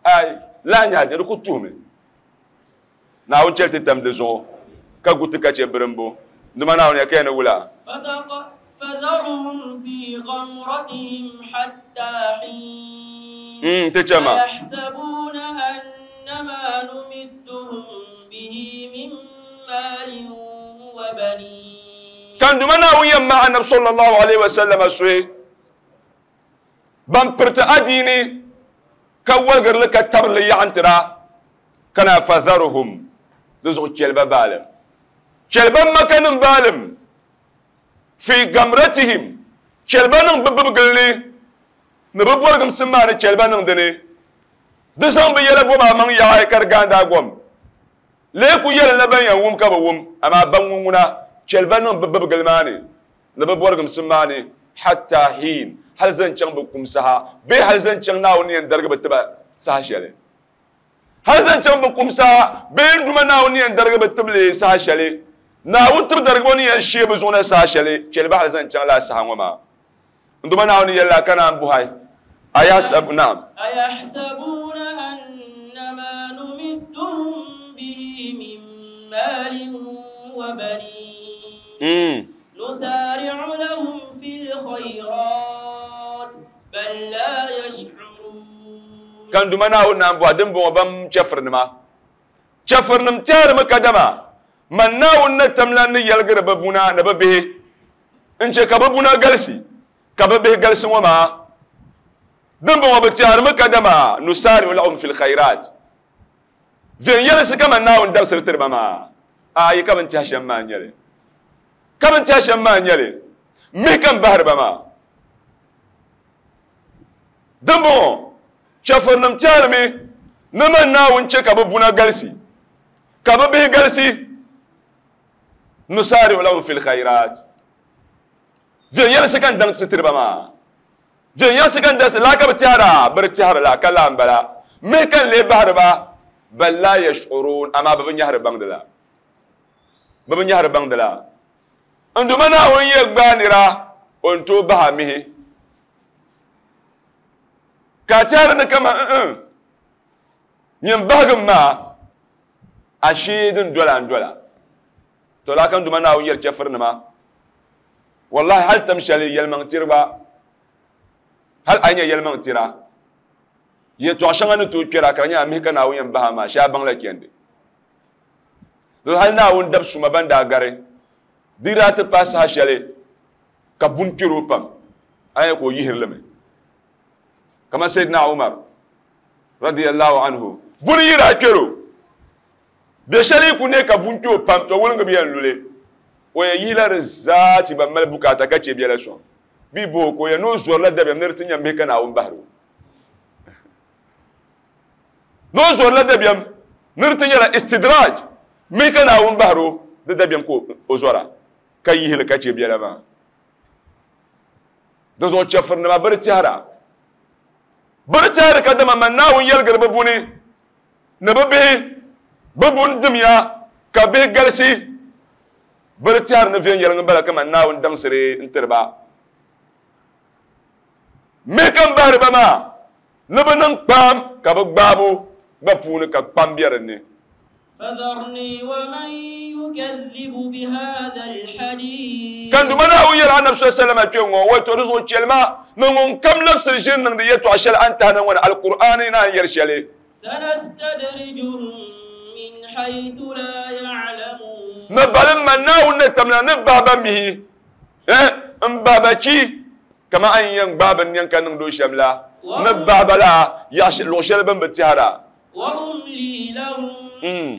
ai lahi nyɛ adiini di ku tuhimi Naawuni chɛli ti tam di zuɣu ka gu ti ka chɛ birimbu dima Naawuni ya ka ya ni wula فذرهم في غمرتهم حتى حين ti chɛ ma أيحسبون أنما نمدهم به من مال وبنين kan duma Naawuni yɛn ma Annabi sallallahu alaihi wasallam suhi ban piriti adiini ka waligirili ka tabirili yaɣantira kana fadharuhum di zuɣu chɛliba baalim chɛliba makanim baalim fi gamratihim chɛliba niŋ bi bibgili ni ni bi bɔrigimsim maa ni chɛliba niŋ dini di zaŋ bi yɛla bɔba maŋ yaɣi ka di gaandi a gom lee ku yɛli la ban yɛn wum ka bi wum amaa ban ŋun ŋuna chɛliba niŋ bi bibgili maa ni ni bi bɔrigimsim maa ni hatta hin hali zaŋ chaŋ bi kum saha bee hali zaŋ chaŋ Naawuni yɛn darigi bi tiba saha shɛli hali zaŋ chaŋ bi kum saha bee n duma Naawuni yɛn darigi bi tibili saha shɛli Naawuni tib darigibo ni yɛn shee bi zuɣu na saha shɛli chɛliba hali zaŋ chaŋ laa saha ŋɔ maa n duma Naawuni yɛlila ka naan buhai ayahsab naam أيحسبون أنما نمدهم به من مال وبنين نسارع لهم في الخيرات بل لا يشعرون kan duma Naawuni naan buha din bɔŋɔ ban chɛfirinima chɛfirinim tɛrimi kadama man Naawuni na tamla ni yɛligiri bi buna ni bi bihi n chɛ ka bi buna galisi ka bi bihi galisi ŋɔ maa din bɔŋɔ bi tɛrimi kadama nusari'u lahum fil khairat viɛnyɛlisi kaman Naawuni dabisiri tiriba maa ayi ka bin tɛhi shɛm maa n nyɛli ka bin tɛhi shɛm maa n nyɛli mihi ka n bahiri ba maa din bɔŋɔ chɛfirinim tɛrimi ni man Naawuni chɛ ka bi buna galisi ka bi bihi galisi nusari'u lahum fil khairat viɛnyɛlisi ka n daŋsi tiriba maa viɛnyɛlisi ka n daŋsi laa ka bi tɛhira bi di tɛhiri la ka laa n bala mihi ka n lee bahiri ba bal la yash'urun amaa bi bi nyɛhiri baŋdi la bi bi nyɛhiri baŋdi la n duma Naawuni yɛ gbaai nira o ni tooi bahi a mihi ka a tɛhiri ni kaman nyin bahigim maa ashee din dola n dola to laa ka n duma Naawuni yɛli chɛfirinima wallahi hali tam shɛli yɛlimaŋ tiriba hali a yi nyɛ yɛlimaŋ tira yɛltɔɣa shɛŋa ni tooi kpɛra ka di nyɛ a mihi ka Naawuni yɛn bahi a maa shee a baŋla chɛndi hali Naawuni dab suma ban daa gari di daa ti paai saha shɛli ka buni kpɛri o pam a nyɛ ka o yihiri li mi kamar Sayyidina Umar radiyallahu anhu buni yi daa kpɛri o bɛ shɛli ku ne ka buni kpɛ o pam to wulingi bi yɛn luli o yɛn yihila di zaa ti ban mali bukaata ka chɛ biɛla sɔŋ bi bo ka o yɛn ni o zɔrila dabiɛm ni di ti nyɛ mihi ka Naawuni bahiri o ni o zɔrila dabiɛm ni di ti nyɛla istidraj mihi ka Naawuni bahiri o di dabiɛm ka o zɔra ka yihili ka chɛ biɛla maa di zuɣu chɛfirinima bi di tɛhira bi di tɛhiri ka dama man Naawuni yɛligiri bi buni ni bi bihi bi buni dimya ka bihi galisi bi di tɛhiri ni viɛnyɛliŋ n bala kaman Naawuni daŋsiri n tiri ba mihi ka n bahiri ba maa ni bi niŋ kpaam ka bi gbaabu gba puuni ka kpam bɛ dinni فذرني ومن يكذب بهذا الحديث kan duma Naawuni yɛli Annabi sallallahu alaihi wasallam kpɛ ŋɔ wato di zuɣu chɛlima ni ŋun kam labisiri ʒini niŋdi yɛltɔɣa shɛli a ni tahi na ŋɔ ni Alkur'aani naan yɛli shɛli سنستدرجهم من حيث لا يعلمون ni balim man Naawuni ni tamla ni bahi ba mihi n bahi ba chi kama a ni yɛn gbaai bin nɛn ka niŋdi o shɛm la ni bahi ba la luɣu shɛli bin bi tɛhira وأملي لهم إن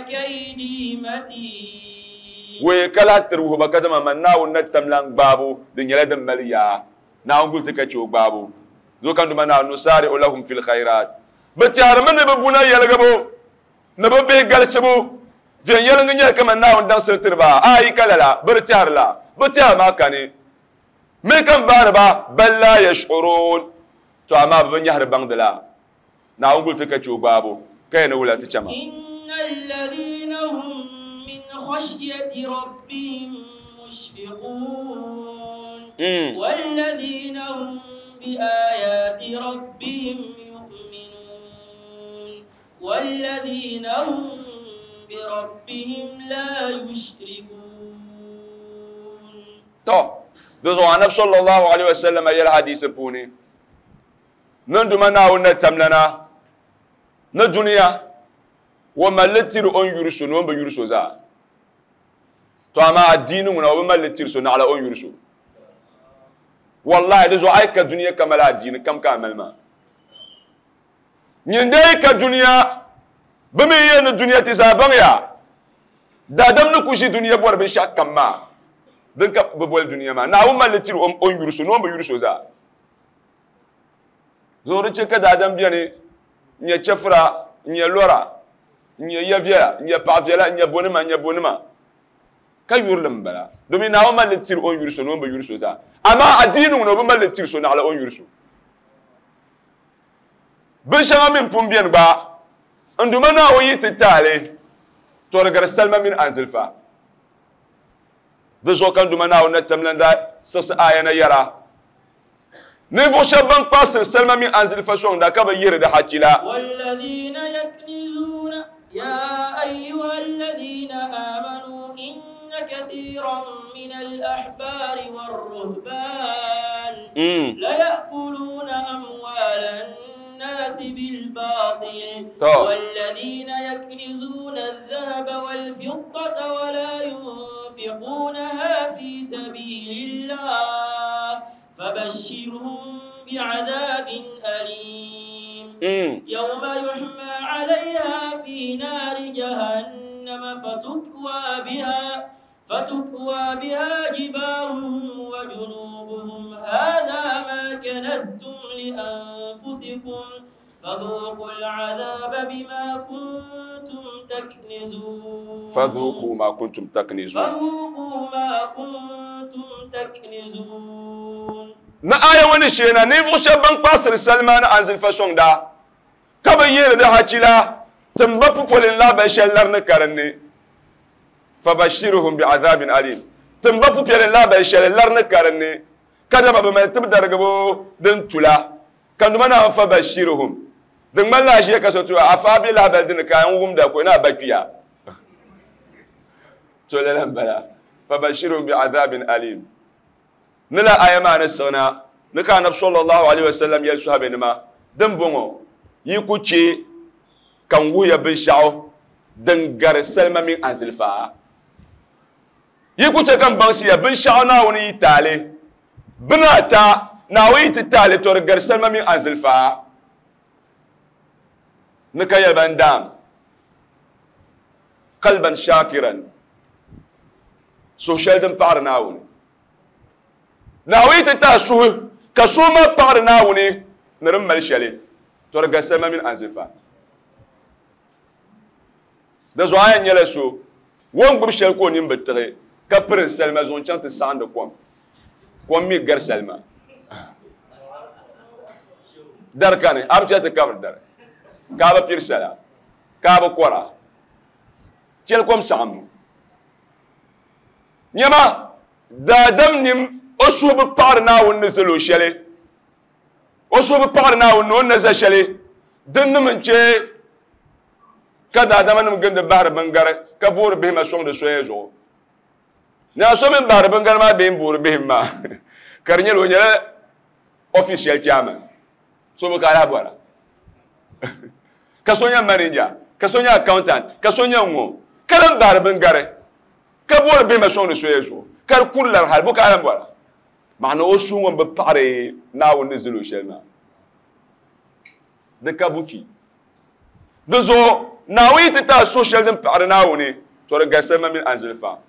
كيدي متين wee ka lahi tiri wuhiba ka dama man Naawuni na tamla n gbaabu di nyɛla din mali yaa Naawuni guli ti ka chɛ o gbaabu Zo kan duma na nusari'u lahum fil khairat. Bi tɛhirimi ni bi buna yɛligibu ni bi bihi galisibu viɛnyɛliŋga nyɛla kaman Naawuni daŋsili tiri ba ayi ka lala bi di tɛhiri la bi tɛha maa kani mi kam baari ba bal la yash'urun to amaa bi bi nyɛhiri baŋdi la Naawuni guli ti ka che o gbaabu ka yɛn ni wula ti chama. Inna alladhina hum min khashyati rabbihim mushfiqun walladhina hum bi ayati rabbihim yu'minun walladhina hum bi rabbihim la yushrikun. To di zuɣu Anabi sallallahu alaihi wasallam yɛli hadisi puuni niŋduma Naawuni na tamlana ni duniya o malli tiri o ni yuri so ni o ni bi yuri so zaa. To amaa adiini ŋuna o bi malli tiri so naɣila o ni yuri so. Wallahi di zuɣu a yi ka duniya ka mali adiini kam ka a mali maa. Nyin dee ka duniya bi mi yɛn ni duniya ti zaa baŋya daadam ni ku ʒi duniya bɔri binshɛɣu kam maa din ka bi boli duniya maa Naawuni malli tiri o ni yuri so ni o ni bi yuri so zaa. Zuɣu di chɛ ka daadam beni n-nyɛ chɛfura n-nyɛ lɔra n-nyɛ ya viɛla n-nyɛ paɣa viɛla n-nyɛ bonima n-nyɛ bonima ka yurili m-bala domin Naawuni malli tiri o ni yuri so ni o ni bi yuri so zaa. Amaa adiini ŋuna o bi malli tiri so naɣila o ni yuri so. Binshɛŋa mi pun beni gba n duma Naawuni yi ti taali tɔrigiri salima mini anzilfa. Di zuɣu ka n duma Naawuni na tamlan daa siɣisi aya na yɛra ninvuɣ shɛba ban kpaɣisiri salima mini anzilfa sɔŋda ka bi yihiri di hachi la. Walladhina yaknizuna ya ayyuha alladhina amanu inna kathiran min al-ahbari war-ruhban la ya'kuluna amwala an-nas bil-batil walladhina yaknizuna adh-dhahaba wal-fiddata wa la yunfiqunaha fi sabilillah فبشرهم بعذاب أليم يوم يحمى عليها في نار جهنم فتكوى بها فتكوى بها جباههم وجنوبهم هذا ما كنزتم لأنفسكم فذوقوا العذاب بما كنتم تكنزون. فذوقوا ما كنتم تكنزون. فذوقوا ما كنتم تكنزون. Na aya wani shena ninvuɣ shɛba ban kpaɣisiri salima ni anzinfa sɔŋda ka bi yihiri di hachi la timba pupolin lahabali shɛli lari ni karinni fabashirhum bi'adhabin alim timba pupiɛlin lahabali shɛli lari ni karinni ka dama bi mali tib darigibu din tula ka duma Naawuni fabashirhum din ŋmanila a ʒiya ka so tuya afa bɛ lahabali dini ka n wumda ko na ba kpiya to lala m-bala fabashirhum bi'adhabin alim. Ni la aya maa ni siɣina ni ka Anabi sallallahu alaihi wasallam yɛli sahabanima din bɔŋɔ yi ku che ka n wuhiya binshɛɣu din gari salima mini anzilfa yi ku che ka n baŋsiya binshɛɣu Naawuni yi taali bini ata Naawuni yi ti taali to di gari salima mini anzilfa ni ka yɛli ban daam qalban shakiran suhu shɛli din paɣiri Naawuni Naawuni ti taa suhu ka suhu maa paɣiri Naawuni ni din mali shɛli to di gari salima mini anzinfa. Di zuɣu a yɛn nyɛla so o ni gbubi shɛli ka o nini bi tiɣi ka piri salima zuɣu n-chaŋ ti saɣindi kom kom mi gari salima dari kani a bi chɛ ti kabiri dari ka a bi piri sala ka a bi kɔra chɛli kom saɣimbu nyɛma daadam nim o suhu bi paɣiri Naawuni ni zali o shɛli o suhu bi paɣiri Naawuni ni o ni na za shɛli din nim n-chɛ ka daadama nim gindi bahiri bingari ka boori bihi ma sɔŋdi soya zuɣu naa so min bahiri bingari maa bee n-boori bihi maa ka di nyɛla o nyɛla ɔfis shɛli chairman so bi ka a lahi bɔra ka so nyɛ manager ka so nyɛ accountant ka so nyɛ ŋɔ ka lan bahiri bingari ka boori bihi ma sɔŋdi soya zuɣu ka di kuri lari hali bo ka a lahi bɔra maana o suhu ŋɔ bi paɣiri Naawuni ni zali o shɛli maa di ka buchi di zuɣu Naawuni yi ti taa suhu shɛli din paɣiri Naawuni to di gari salima mini anzinfa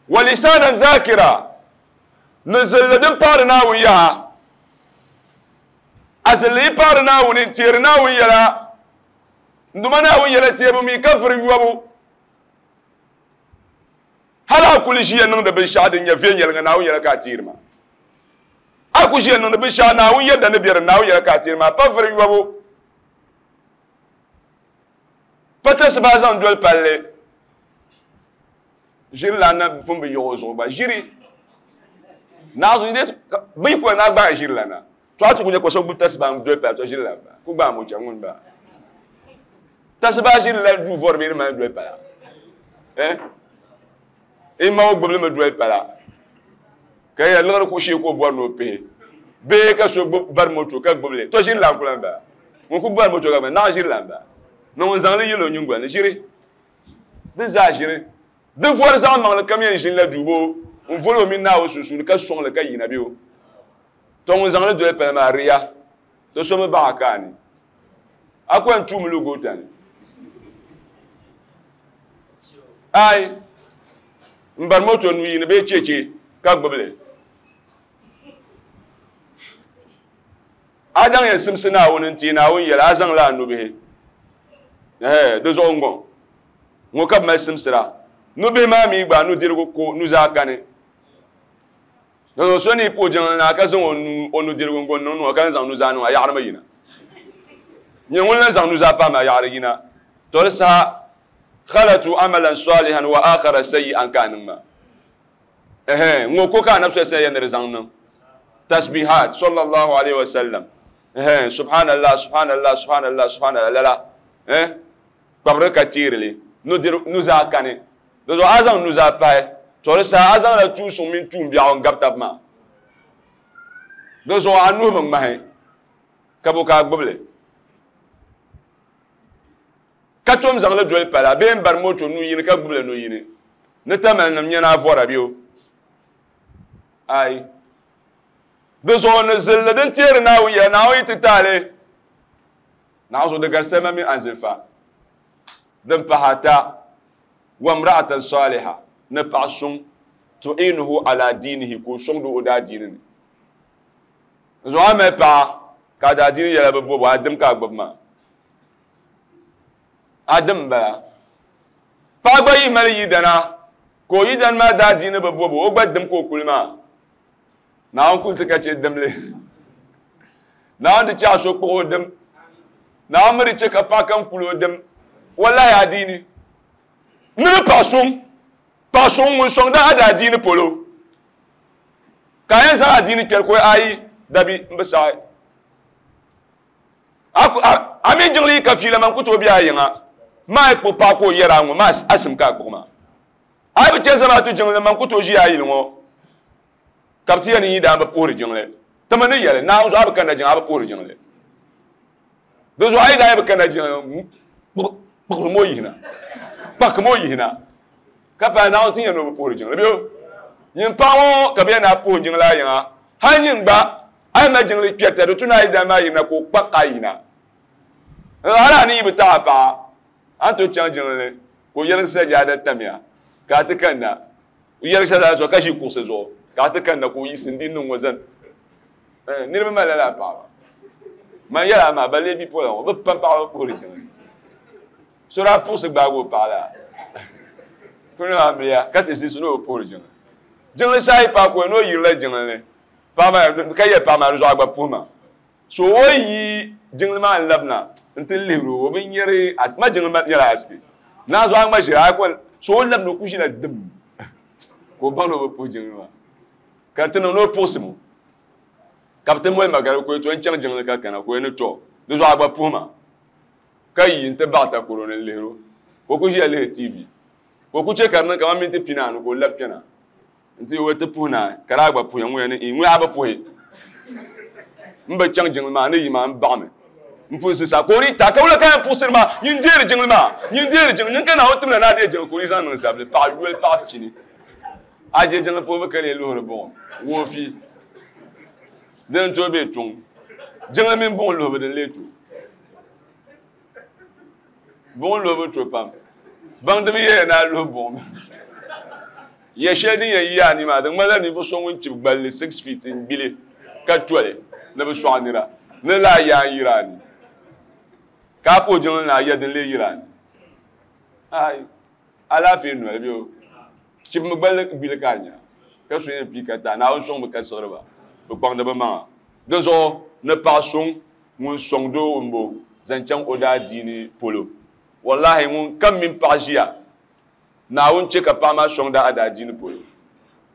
wa lisanan dhakira ni zilli din paɣiri Naawuni yaha Azilli yi paɣari Naawuni n teeri Naawuni yɛla n duma Naawuni yɛla teebu mi ka vuri yɔbu hali a kuli ʒiya niŋdi binshaɣu din nyɛ viɛnyɛliŋga Naawuni yɛla ka a teeri maa a ku ʒiya niŋdi binshaɣu Naawuni yɛda ni bɛ di Naawuni yɛla ka a teeri maa pa vuri yɔbu pa tasibaha zaŋ doli palli ʒiri lan na pun bi yiɣi o zuɣu gba ʒiri naazu bi yi kuli na gbaai ʒiri lana to a ti ku nyɛ ka so gbubi tasibaha n doli palli to ʒiri lan ba ku gbaai mo chɛŋ ŋuni ba tasibaha ʒiri la duu vɔri bee ni mali doli pala eh in ma o gbubili mi doli pala ka yɛ liɣiri kuɣu shee ka o bɔri ni o pihi bee ka so gbubi bari moto ka gbubili to ʒiri lan ku lan ba ŋun ku bari moto ka gbubi naɣ ʒiri lan ba ni ŋun zaŋli yili o nyingoli ni ʒiri di zaa ʒiri di vɔri zaɣ maŋli kam yɛn ʒini la duubo n voli o mini Naawuni sunsuuni ka sɔŋli ka yina bɛ o to ŋun zaŋli doli pala maa riya to so mi baɣa ka a ni a ku yɛn tuumi lu goota ni ai n bari moto nu yini bee cheche ka gbubili a daŋ yɛn simsi Naawuni n ti Naawuni yɛla a zaŋla a nubihi eh di zuɣu ŋɔ ŋɔ ka bi mali simsira nubihi maa mi gba nudirigu ko nuzaa kani so ni puhi jiŋli na ka zaŋ o nudirigu n-go niŋ niŋ ka zaŋ nuzaa niŋ a yaɣari mi yina nyɛ ŋun lan zaŋ nuzaa paai ma yaɣari yina to di saha khalatu amalan salihan wa akhara sayyi'an ka niŋ ma eh ŋɔ ko ka anabi sallallahu alaihi wasallam zaŋ niŋ tasbihat sallallahu alaihi wasallam eh subhanallah subhanallah subhanallah subhanallah lala eh kpabiri ka teerili nuzaa kani di zuɣu a zaŋ nuzaa pahi to di saha a zaŋla tuun suŋ mini tuun biɛɣu n gabi tabi maa di zuɣu a nuhi bi ŋmahi ka bo ka a gbubili ka tom zaŋli doli pala bee n bari moto nu yini ka gbubili nu yini ni tamali nim nyɛ na a vɔra bɛ o ai di zuɣu ni zilli din teeri Naawuni yɛla Naawuni yi ti taali Naawuni zuɣu di gari salima mini anzinfa din pahi ata wa imra'atan saliha ni paɣa suŋ tu'inuhu ala diinihi ka o sɔŋdi o daadiini ni zuɣu a mali paɣa ka a daadiini yɛla bi bobo a dim ka a gbubi maa a dim n bala paɣa gba yi mali yidana ka o yidana maa daadiini bi bobo o gba dim ka o kuli maa Naawuni kuli ti ka chɛ dimli Naawuni di chɛ a so kpuɣi o dim Naawuni mi di chɛ ka paɣa kam kuli o dim wallahi adiini ni ni paɣa suŋ paɣa suŋ ŋun sɔŋda a daadiini polo ka a yɛn zaŋ adiini kpɛri ko ayi dabi n bi saɣi a mini jiŋli yi ka fiila man ku tooi bɛ a yiŋa maa yi kpuɣi paɣa ka o yɛra a ŋɔ maa a sim ka a kpuɣi maa a yi bi chɛ zamaatu jiŋli man ku tooi ʒi a yili ŋɔ ka bi ti yɛn ni yi daan bi puhiri jiŋli timi ni yɛli Naawuni zuɣu a bi kanna jiŋli a bi puhiri jiŋli di zuɣu a yi daa yi bi kanna jiŋli kpuɣiri mo yihina kpaki mo yihina ka paai Naawuni ti yɛn ni o bi puhiri jiŋli bɛ o nyin paɣa ŋɔ ka bi yɛn na puhi jiŋli a yiŋa hali nyin gba a yi mali jiŋli kpɛrita di tu ni a yi daan maa yirina ka o kpaki a yina hali a ni yi bi taɣi a paɣa a ni tooi chaŋ jiŋli ka o yɛligi sajaada tamya ka a ti kanna o yɛligi sajaada zuɣu ka ʒi kuɣusi zuɣu ka a ti kanna ka o yiɣisi n di niŋ ŋɔ zani niriba mali lala paɣaba man yɛla maa ba lee bipola ŋɔ bi pam paɣaba puhiri jiŋli so daa puɣusi gbaagi o paɣa la kuli maa miya ka ti zisi ni o puhiri jiŋli jiŋli saa yi paai ka o ni o yirila jiŋli ni paɣa maa ka yɛ paɣa maa di zuɣu a gba puhi ma so o yi jiŋli maa n labina n ti lihiri o o bi nyɛri ma jiŋli maa nyɛla asiki naa zuɣu a ŋma ʒira a ko so o labina o ku ʒila dim ka o baŋ ni o bi puhi jiŋli maa ka ti niŋ ni o puɣusi mu ka bi ti moli magari ka o to n chaŋ jiŋli ka kana ka o ni to di zuɣu a gba puhi ma ka yi n ti baɣa takoro ni n lihiri o ka o ku ʒiya lihiri T V ka o ku chɛ ka di niŋ kamani minti pinaanu ka o labi kpɛna n ti o ti puhi naai ka daa gba puhi ŋun yɛn ni ŋun a bi puhi n bi chaŋ jiŋli maa ni yi maa n baɣami n pun sisa ka o di ta ka wula ka yɛn puɣusiri maa nyin deeri jiŋli maa nyin deeri jiŋli nyin ka Naawuni timla ni a deei jiŋli ka o di zaŋ niŋ zabili paɣa yoli paɣa fini a je jiŋli puhibu ka lee luhiri buɣum woofi din tooi be tuŋ jiŋli mini buɣum luhibu din lee to buɣum luhibu to pam baŋdiba yɛya ni a luhi buɣum yɛ shɛli din yɛn yi a ni maa di ŋmanila ninvuɣu so ŋun chibi gballi six feet n gbili ka toli ni bi sɔɣi nira Ni laa yaa n yira ni ka a puhi jiŋli ni a ya din lee yira ni ai alaafee noli bɛ o chibimi gballi gbili ka a nya ka so yɛn pii ka taa Naawuni sɔŋmi ka siɣiri ba bi kpaŋdi bi maŋa di zuɣu ni paɣa suŋ ŋun sɔŋdi o n bo zaŋ chaŋ o daa diini polo wallahi ŋun kam mini paɣa ʒiya Naawuni che ka paɣa maa sɔŋda a daa diini polo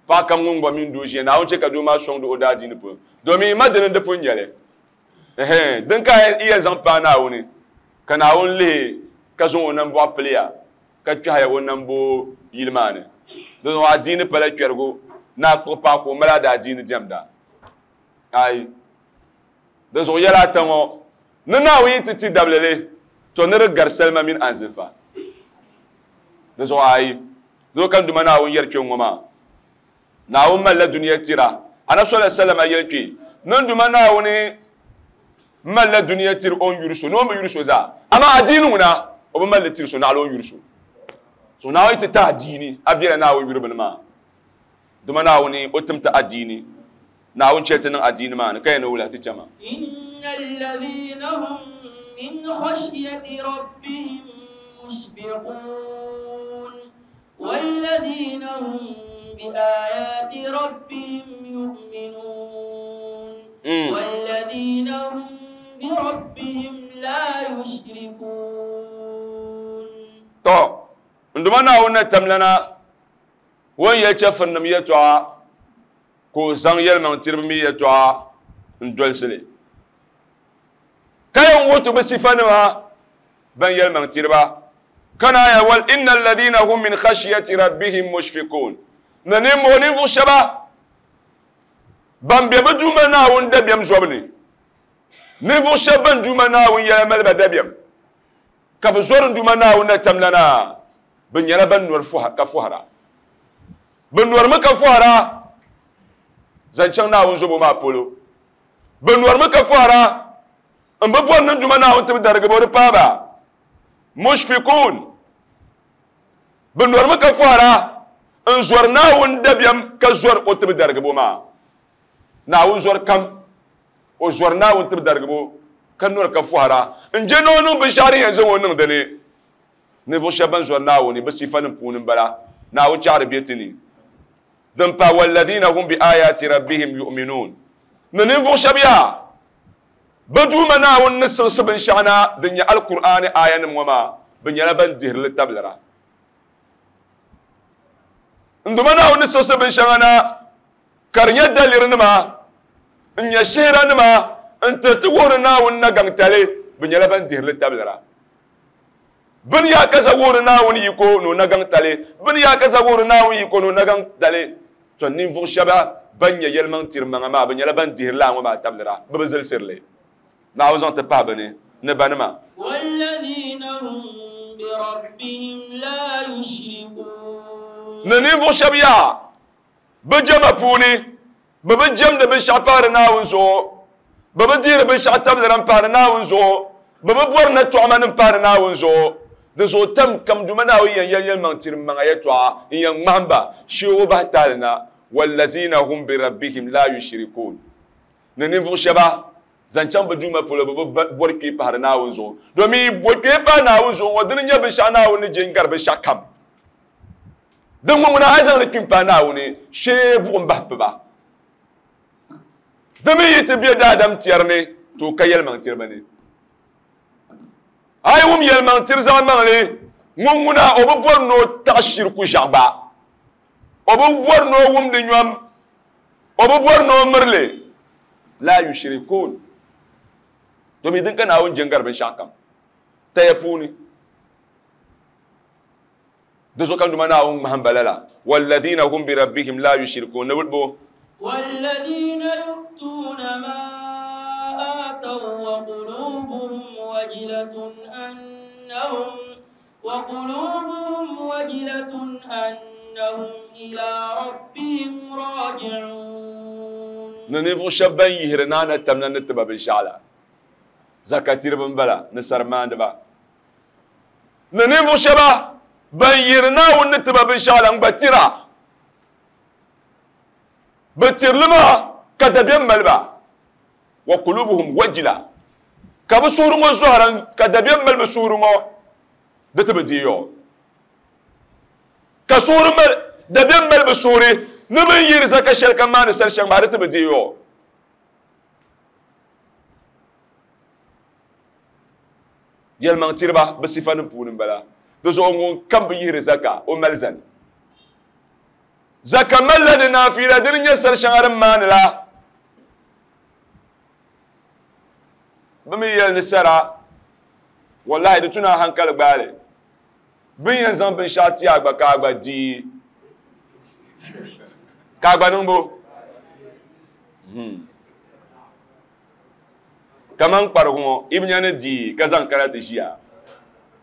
paɣa kam ŋun gba mini doo ʒiya Naawuni che ka doo maa sɔŋdi o daa diini polo domin ma dini di pun nyɛli din ka iya zaŋ paai Naawuni ka Naawuni lihi ka zaŋ o nambɔɣu piliya ka kpɛhiya o nambo yili maa ni di zuɣu adiini pala kpɛrigu ni a kpuɣi paɣa ka o mali a daa diini diɛmda ai di zuɣu yɛla ata ŋɔ ni Naawuni yi ti ti dablili to ni di gari salima mini anzinfa di zuɣu ayi di zuɣu ka Duma Naawuni yɛri kpɛ ŋɔ maa Naawuni malila dunia tira Anabi sallallahu alaihi wasallam yɛli kpɛ ni Duma Naawuni malila dunia tiri o ni yuri so ni o bi yuri so zaa amaa adiini ŋuna o bi malli tiri so naɣila o ni yuri so so Naawuni ti ta adiini a bela Naawuni yuri bini maa Duma Naawuni o tim ti adiini Naawuni chɛli ti niŋ adiini maa ni ka yɛn ni wula ti chama إن الذين هم من خشية ربهم مشفقون والذين هم بآيات ربهم يؤمنون والذين هم بربهم لا يشركون To nduma Naawuni na tamlana won yɛli chɛfurinim yɛltɔɣa ka o zaŋ yɛlimaŋ tiriba mi yɛltɔɣa n dolisili ka yɛn wuhi ti bi sifanima ban yɛlimaŋ tiriba kana ya wal inna alladhina hum min khashyati rabbihim mushfiqun ni ninvuɣu ninvuɣu shɛba ban be bi duuma Naawuni dabiɛm zɔbu ni ninvuɣu shɛba ban duuma Naawuni yɛla mali ba dabiɛm ka bi zɔri n duuma Naawuni na tamlana bi nyɛla ban nɔri ka fɔhira bi nɔrimi ka fɔhira zaŋ chaŋ Naawuni zobo maa polo bi nɔrimi ka fɔhira n bi bɔri ni duuma Naawuni ti bi darigi ba o di paai ba mushfiqun bi nɔrimi ka fɔhira n zɔri Naawuni dabiɛm ka zɔri o ti bi darigibo maa Naawuni zɔri kam o zɔri Naawuni ti bi darigibo ka nɔri ka fɔhira n je ni o niŋ binshaɣu din yɛn zaŋ o niŋ dini ninvuɣu shɛba ban zɔri Naawuni bi sifanim puuni n bala Naawuni chaɣari bɛ ti ni din pa walladhina hum bi ayati rabbihim yu'minun ni ninvuɣu shɛba yaa bi duuma Naawuni ni siɣisi binshaɣu na din nyɛ Alkur'aani aayanim ŋɔ maa bi nyɛla ban dihirili tabilira n duma Naawuni ni siɣisi binshɛŋa na ka di nyɛ dalirinima n nyɛ shihiranima n tiri ti wuhiri Naawuni nagaŋtali bi nyɛla ban dihirili tabilira bini yaa ka za wuhiri Naawuni yiko ni o nagaŋtali bini yaa ka za wuhiri Naawuni yiko ni o nagaŋtali to ninvuɣu shɛba ban nyɛ yɛlimaŋ tiri maŋa maa bi nyɛla ban dihirili a ŋɔ maa tabilira bi bi zilsirili Naawuni zaŋ ti pahi bini ni banima والذين هم بربهم لا يشركون ni ninvuɣu shɛba yaa bi jɛma puuni bi bi jɛmdi binshaɣu paari Naawuni zuɣu bi bi dihiri binshaɣu tabilira n paari Naawuni zuɣu bi bi bɔri na tɔɣima nim paari Naawuni zuɣu di zuɣu tam kam duma Naawuni yɛn yɛli yɛlimaŋ tiri maŋa yɛltɔɣa n yɛn ŋmahim ba shee o bahi taali na wallazina hum bi rabbihim la yushrikun ni ninvuɣu shɛba zaŋ chaŋ bi duuma polo bi bi bɔri kpee pahari Naawuni zuɣu domin bɔ kpee pahi Naawuni zuɣu ŋɔ dini nyɛ binshaɣu Naawuni ni je n gari binshaɣu kam din ŋɔ ŋuna a yi zaŋli kpim pahi Naawuni shee buɣum bahi piba di mi yi ti be daadam tɛri ni to ka yɛlimaŋ tiriba ni a yi wum yɛlimaŋ tiri zaɣ maŋli ŋun ŋuna o bi bɔri ni o taɣi shiriku ʒiɛɣu gba o bi bɔri ni o wumdi nyɔm o bi bɔri ni o mirili la yushrikun domin din ka Naawuni je n gari binshaɣu kam taya puuni di zuɣu ka duma Naawuni ŋmahim ba lala walladhina hum bi rabbihim la yushrikun ni bo والذين يؤتون ما آتوا وقلوبهم وجلة أنهم وقلوبهم وجلة أنهم إلى ربهم راجعون ni ninvuɣu shɛba ban yihiri naana tamla ni tiba binshaɣu la zakatiriba n bala ni sarimaandiba ni ninvuɣu shɛba ban yihiri Naawuni ni tiba binshaɣu la n gba tira bi tirili maa ka dabiɛm mali ba Wa qulubuhum wajila. Ka bi suhuri ŋɔ zɔhira ka dabiɛm mali bi suhuri ŋɔ di ti bi deei o. Ka suhuri mali dabiɛm mali bi suhuri ni bin yihiri zaka shɛli ka maani sali shɛŋa maa di ti bi deei o. Yɛlimaŋ tiriba bi sifa nim puuni n bala. Di zuɣu ŋun kam bi yihiri zaka o mali zani. Zaka malila di naafiila dini nyɛ sali shɛŋa din maani la. Bi mi yɛli ni sara wallahi di tuna hankali gbaali. Bin yɛn zaŋ binshaɣu ti a gba ka a gba dii ka a gba niŋbo kaman kparigu ŋɔ i bi nya ni dii ka zaŋ kana ti ʒiya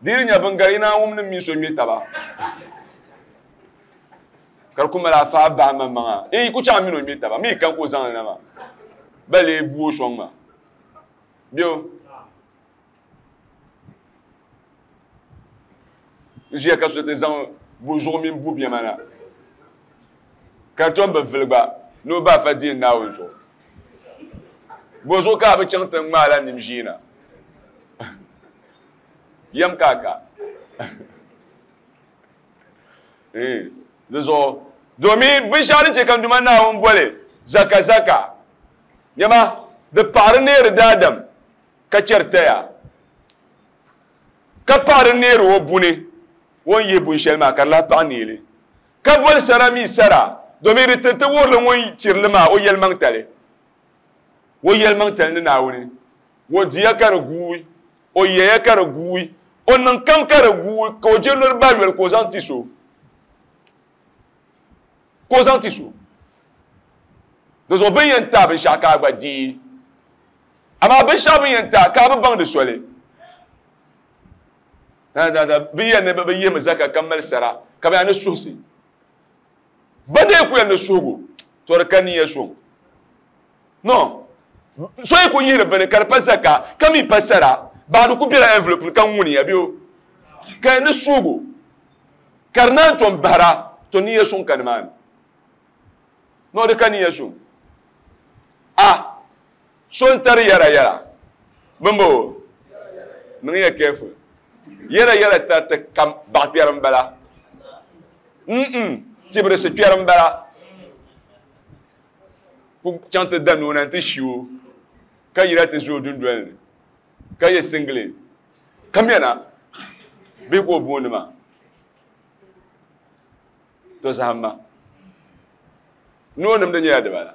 dii nya bin gari i naan wum ni mini so ŋmɛ taba ka di ku mali afa bahi maŋmaŋa i ku chaŋ mini o ŋmɛ taba mi kan ka o zaŋli na maa ba lee bu o sɔŋ maa bio ʒiya ka so ti zaŋ bu zuɣu mini bu biɛma na ka tom bi vili gba ni o ba fa deei Naawuni zuɣu bo zuɣu ka a bi chaŋ ti ŋmaala nim ʒiina yɛm ka a ka di zuɣu domin binshaɣu din chɛ ka n Duuma Naawuni boli zaka zaka nyɛma di paɣari neeri daadam ka chɛri taya ka paɣari neeri o buni o ni yihi bun shɛli maa ka di lahi paɣa neeli ka boli sara mi sara domin di tiriti wuhurili ŋun tirili maa o yɛlimaŋtali o yɛlimaŋtali ni Naawuni o diya ka di guui o yɛya ka di guui o niŋ kam ka di guui ka o je noli ba yoli ka o zaŋ ti so ka o zaŋ ti so di zuɣu bin yɛn taai binshaɣu ka a gba dii amaa binshaɣu bin yɛn taai ka a bi baŋ di soli bi yɛn ni bi yihimi zaka ka mali sara ka bi yaa ni suhisi ba dee ku yɛn ni suhigu to di ka niya suŋ no so yi ku yihiri bini ka di pa zaka ka mi pa sara baa di ku bela envelope ni ka ŋuniya bɛ ka yɛn ni suhigu ka di naan tom bahira to niya suŋ ka nimaani no di ka niya suŋ a so n tari yɛra yɛra bimbo niŋ ya careful yɛra yɛra tariti kam baɣa kpɛri n bala mm tibirisi kpɛri n bala ku chaŋ ti da noo na n ti ʒi o ka yira ti ʒi o dundoli ni ka yɛ singlet ka mɛna bee ka o booni maa to zaham ma noo nimdi nyɛla dibala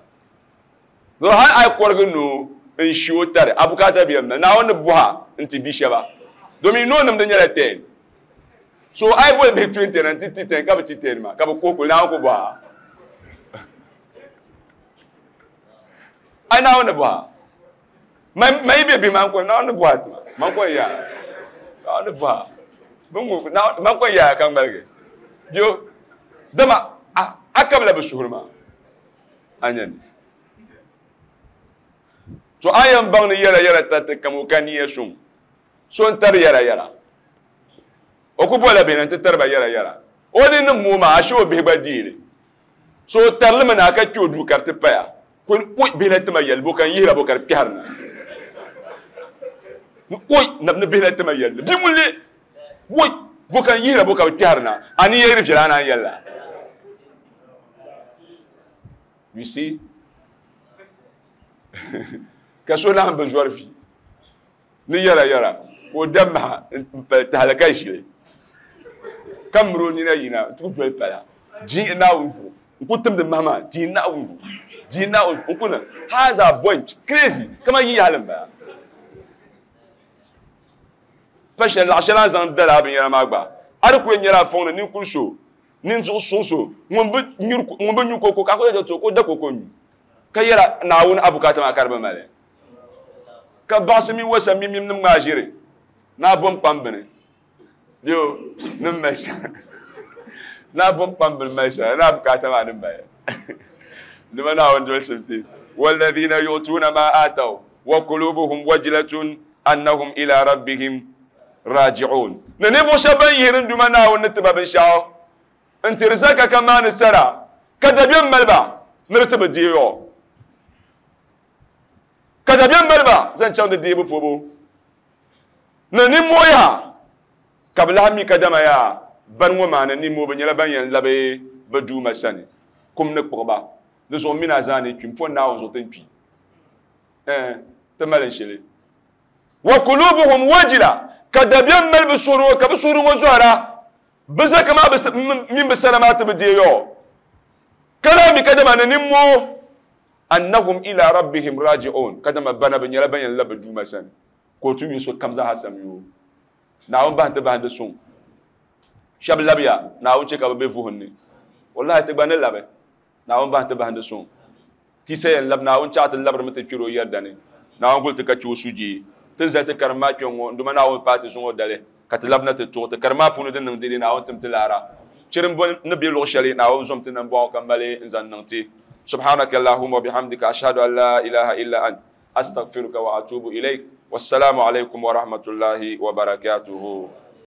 do hali a yi kɔrigi noo n ʒi o tari a bukaata bɛ mi Naawuni ni bɔha n ti bi shɛba domin noo nimdi nyɛla ten so a yi boli bihi twenty na n ti ti ten ka bi ti ten maa ka bi kuhi kuli Naawuni ku bɔha ai Naawuni ni bɔha ma yi bɛ bihi maa n kɔni Naawuni ni bɔha tima man kɔni yaa Naawuni ni bɔha man kɔni yaa ka ŋmaligi bio dama a kabila bi suhuri maa a nyɛ ni to a yɛn baŋ ni yɛra yɛra tariti kam o ka niya suŋ so n tari yɛra yɛra o ku bola bihi na n ti tari ba yɛra yɛra o ni ni moo maa ashe o bihi gba deeli so o tarilimi na ka kpe o duu ka di ti paya oi bihi la tima yɛlli bo ka n yihira bo ka di kpɛhiri na oi ni bihi la tima yɛlli bi ŋun le oi bo ka n yihira bo ka bi kpɛhiri na a ni yɛri viɛla a naan yɛlli you see ka so lahi bi zɔri fi ni yɛra yɛra ka o da maha n pali tahali ka ʒili ka miri o nina yina n ti ku doli pala dii Naawuni zuɣu n ku timdi maha maa dii Naawuni zuɣu dii Naawuni n ku na haza bunch crazy kama yi yaɣali n bala pa shɛli laɣa shɛli a zaŋ dala a binyɛra maa gba a di ku yɛn nyɛla a fɔŋ ni ninkuri so ninvuɣu suŋ so ŋun bi nyu koko ka ku yɛn to ka o da koko nyu ka yɛra Naawuni a bukaata maa ka di bi mali ka baɣasi mi wasa mimim nim ŋmaa ʒiri naa bom kpam bini bio nim mali sara naa bom kpam bini mali sara naa bukaata maa nim mali nima Naawuni doli simti walladhina yu'tuna ma ataw wa qulubuhum wajilatun annahum ila rabbihim raji'un ni ninvuɣu shɛba ban yihiri n Duuma Naawuni ni tiba binshaɣu n tiri zaka ka maani sara ka dabiɛm mali ba ni di ti bi deei o Ka dabiɛm mali ba zaŋ chaŋ di deebu pubu ni nimmoo yaha ka bi lahi mi kadama yaa bani ŋɔ maa ni nimmoo bi nyɛla ban yɛn labi bi duuma sani kum ni kpuɣiba di zuɣu mina zaa ni kpi m-po Naawuni zuɣu ti ni kpi eh ti mali shɛli wa kulubuhum wajila ka dabiɛm mali bi suhuri ŋɔ ka bi suhuri ŋɔ zɔhira bi zaka maa mini bi sara maa ti bi deei yɔ ka lahi mi kadama ni nimmoo annahum ila rabbihim raji'un kadama bana bi nyɛla ban yɛn labi bi duuma sani ka o ti yu sokam zaaha samyo Naawuni bahi ti bahindi suŋ shɛba labiya Naawuni chɛ ka bi be vuhim ni wallahi ti gba ni labi Naawuni bahi ti bahindi suŋ ti sa yɛn labi Naawuni chaɣ ti labirimi ti kpɛri o yɛrida ni Naawuni guli ti ka chɛ o sujee ti ni zali ti karim maa kpɛŋ ŋɔ n Duuma Naawuni paai ti zuŋɔ dali ka ti labina ti tuɣi ti karim maa puuni din niŋ dede Naawuni tim ti laara chirimbu ni be luɣ shɛli Naawuni zom ti nambɔɣu ka mali n-zaŋ niŋ ti subhanaka allahumma wa bihamdika ashhadu an la ilaha illa ant astaghfiruka wa atubu ilayk wassalamu alaykum wa rahmatullahi wa barakatuhu.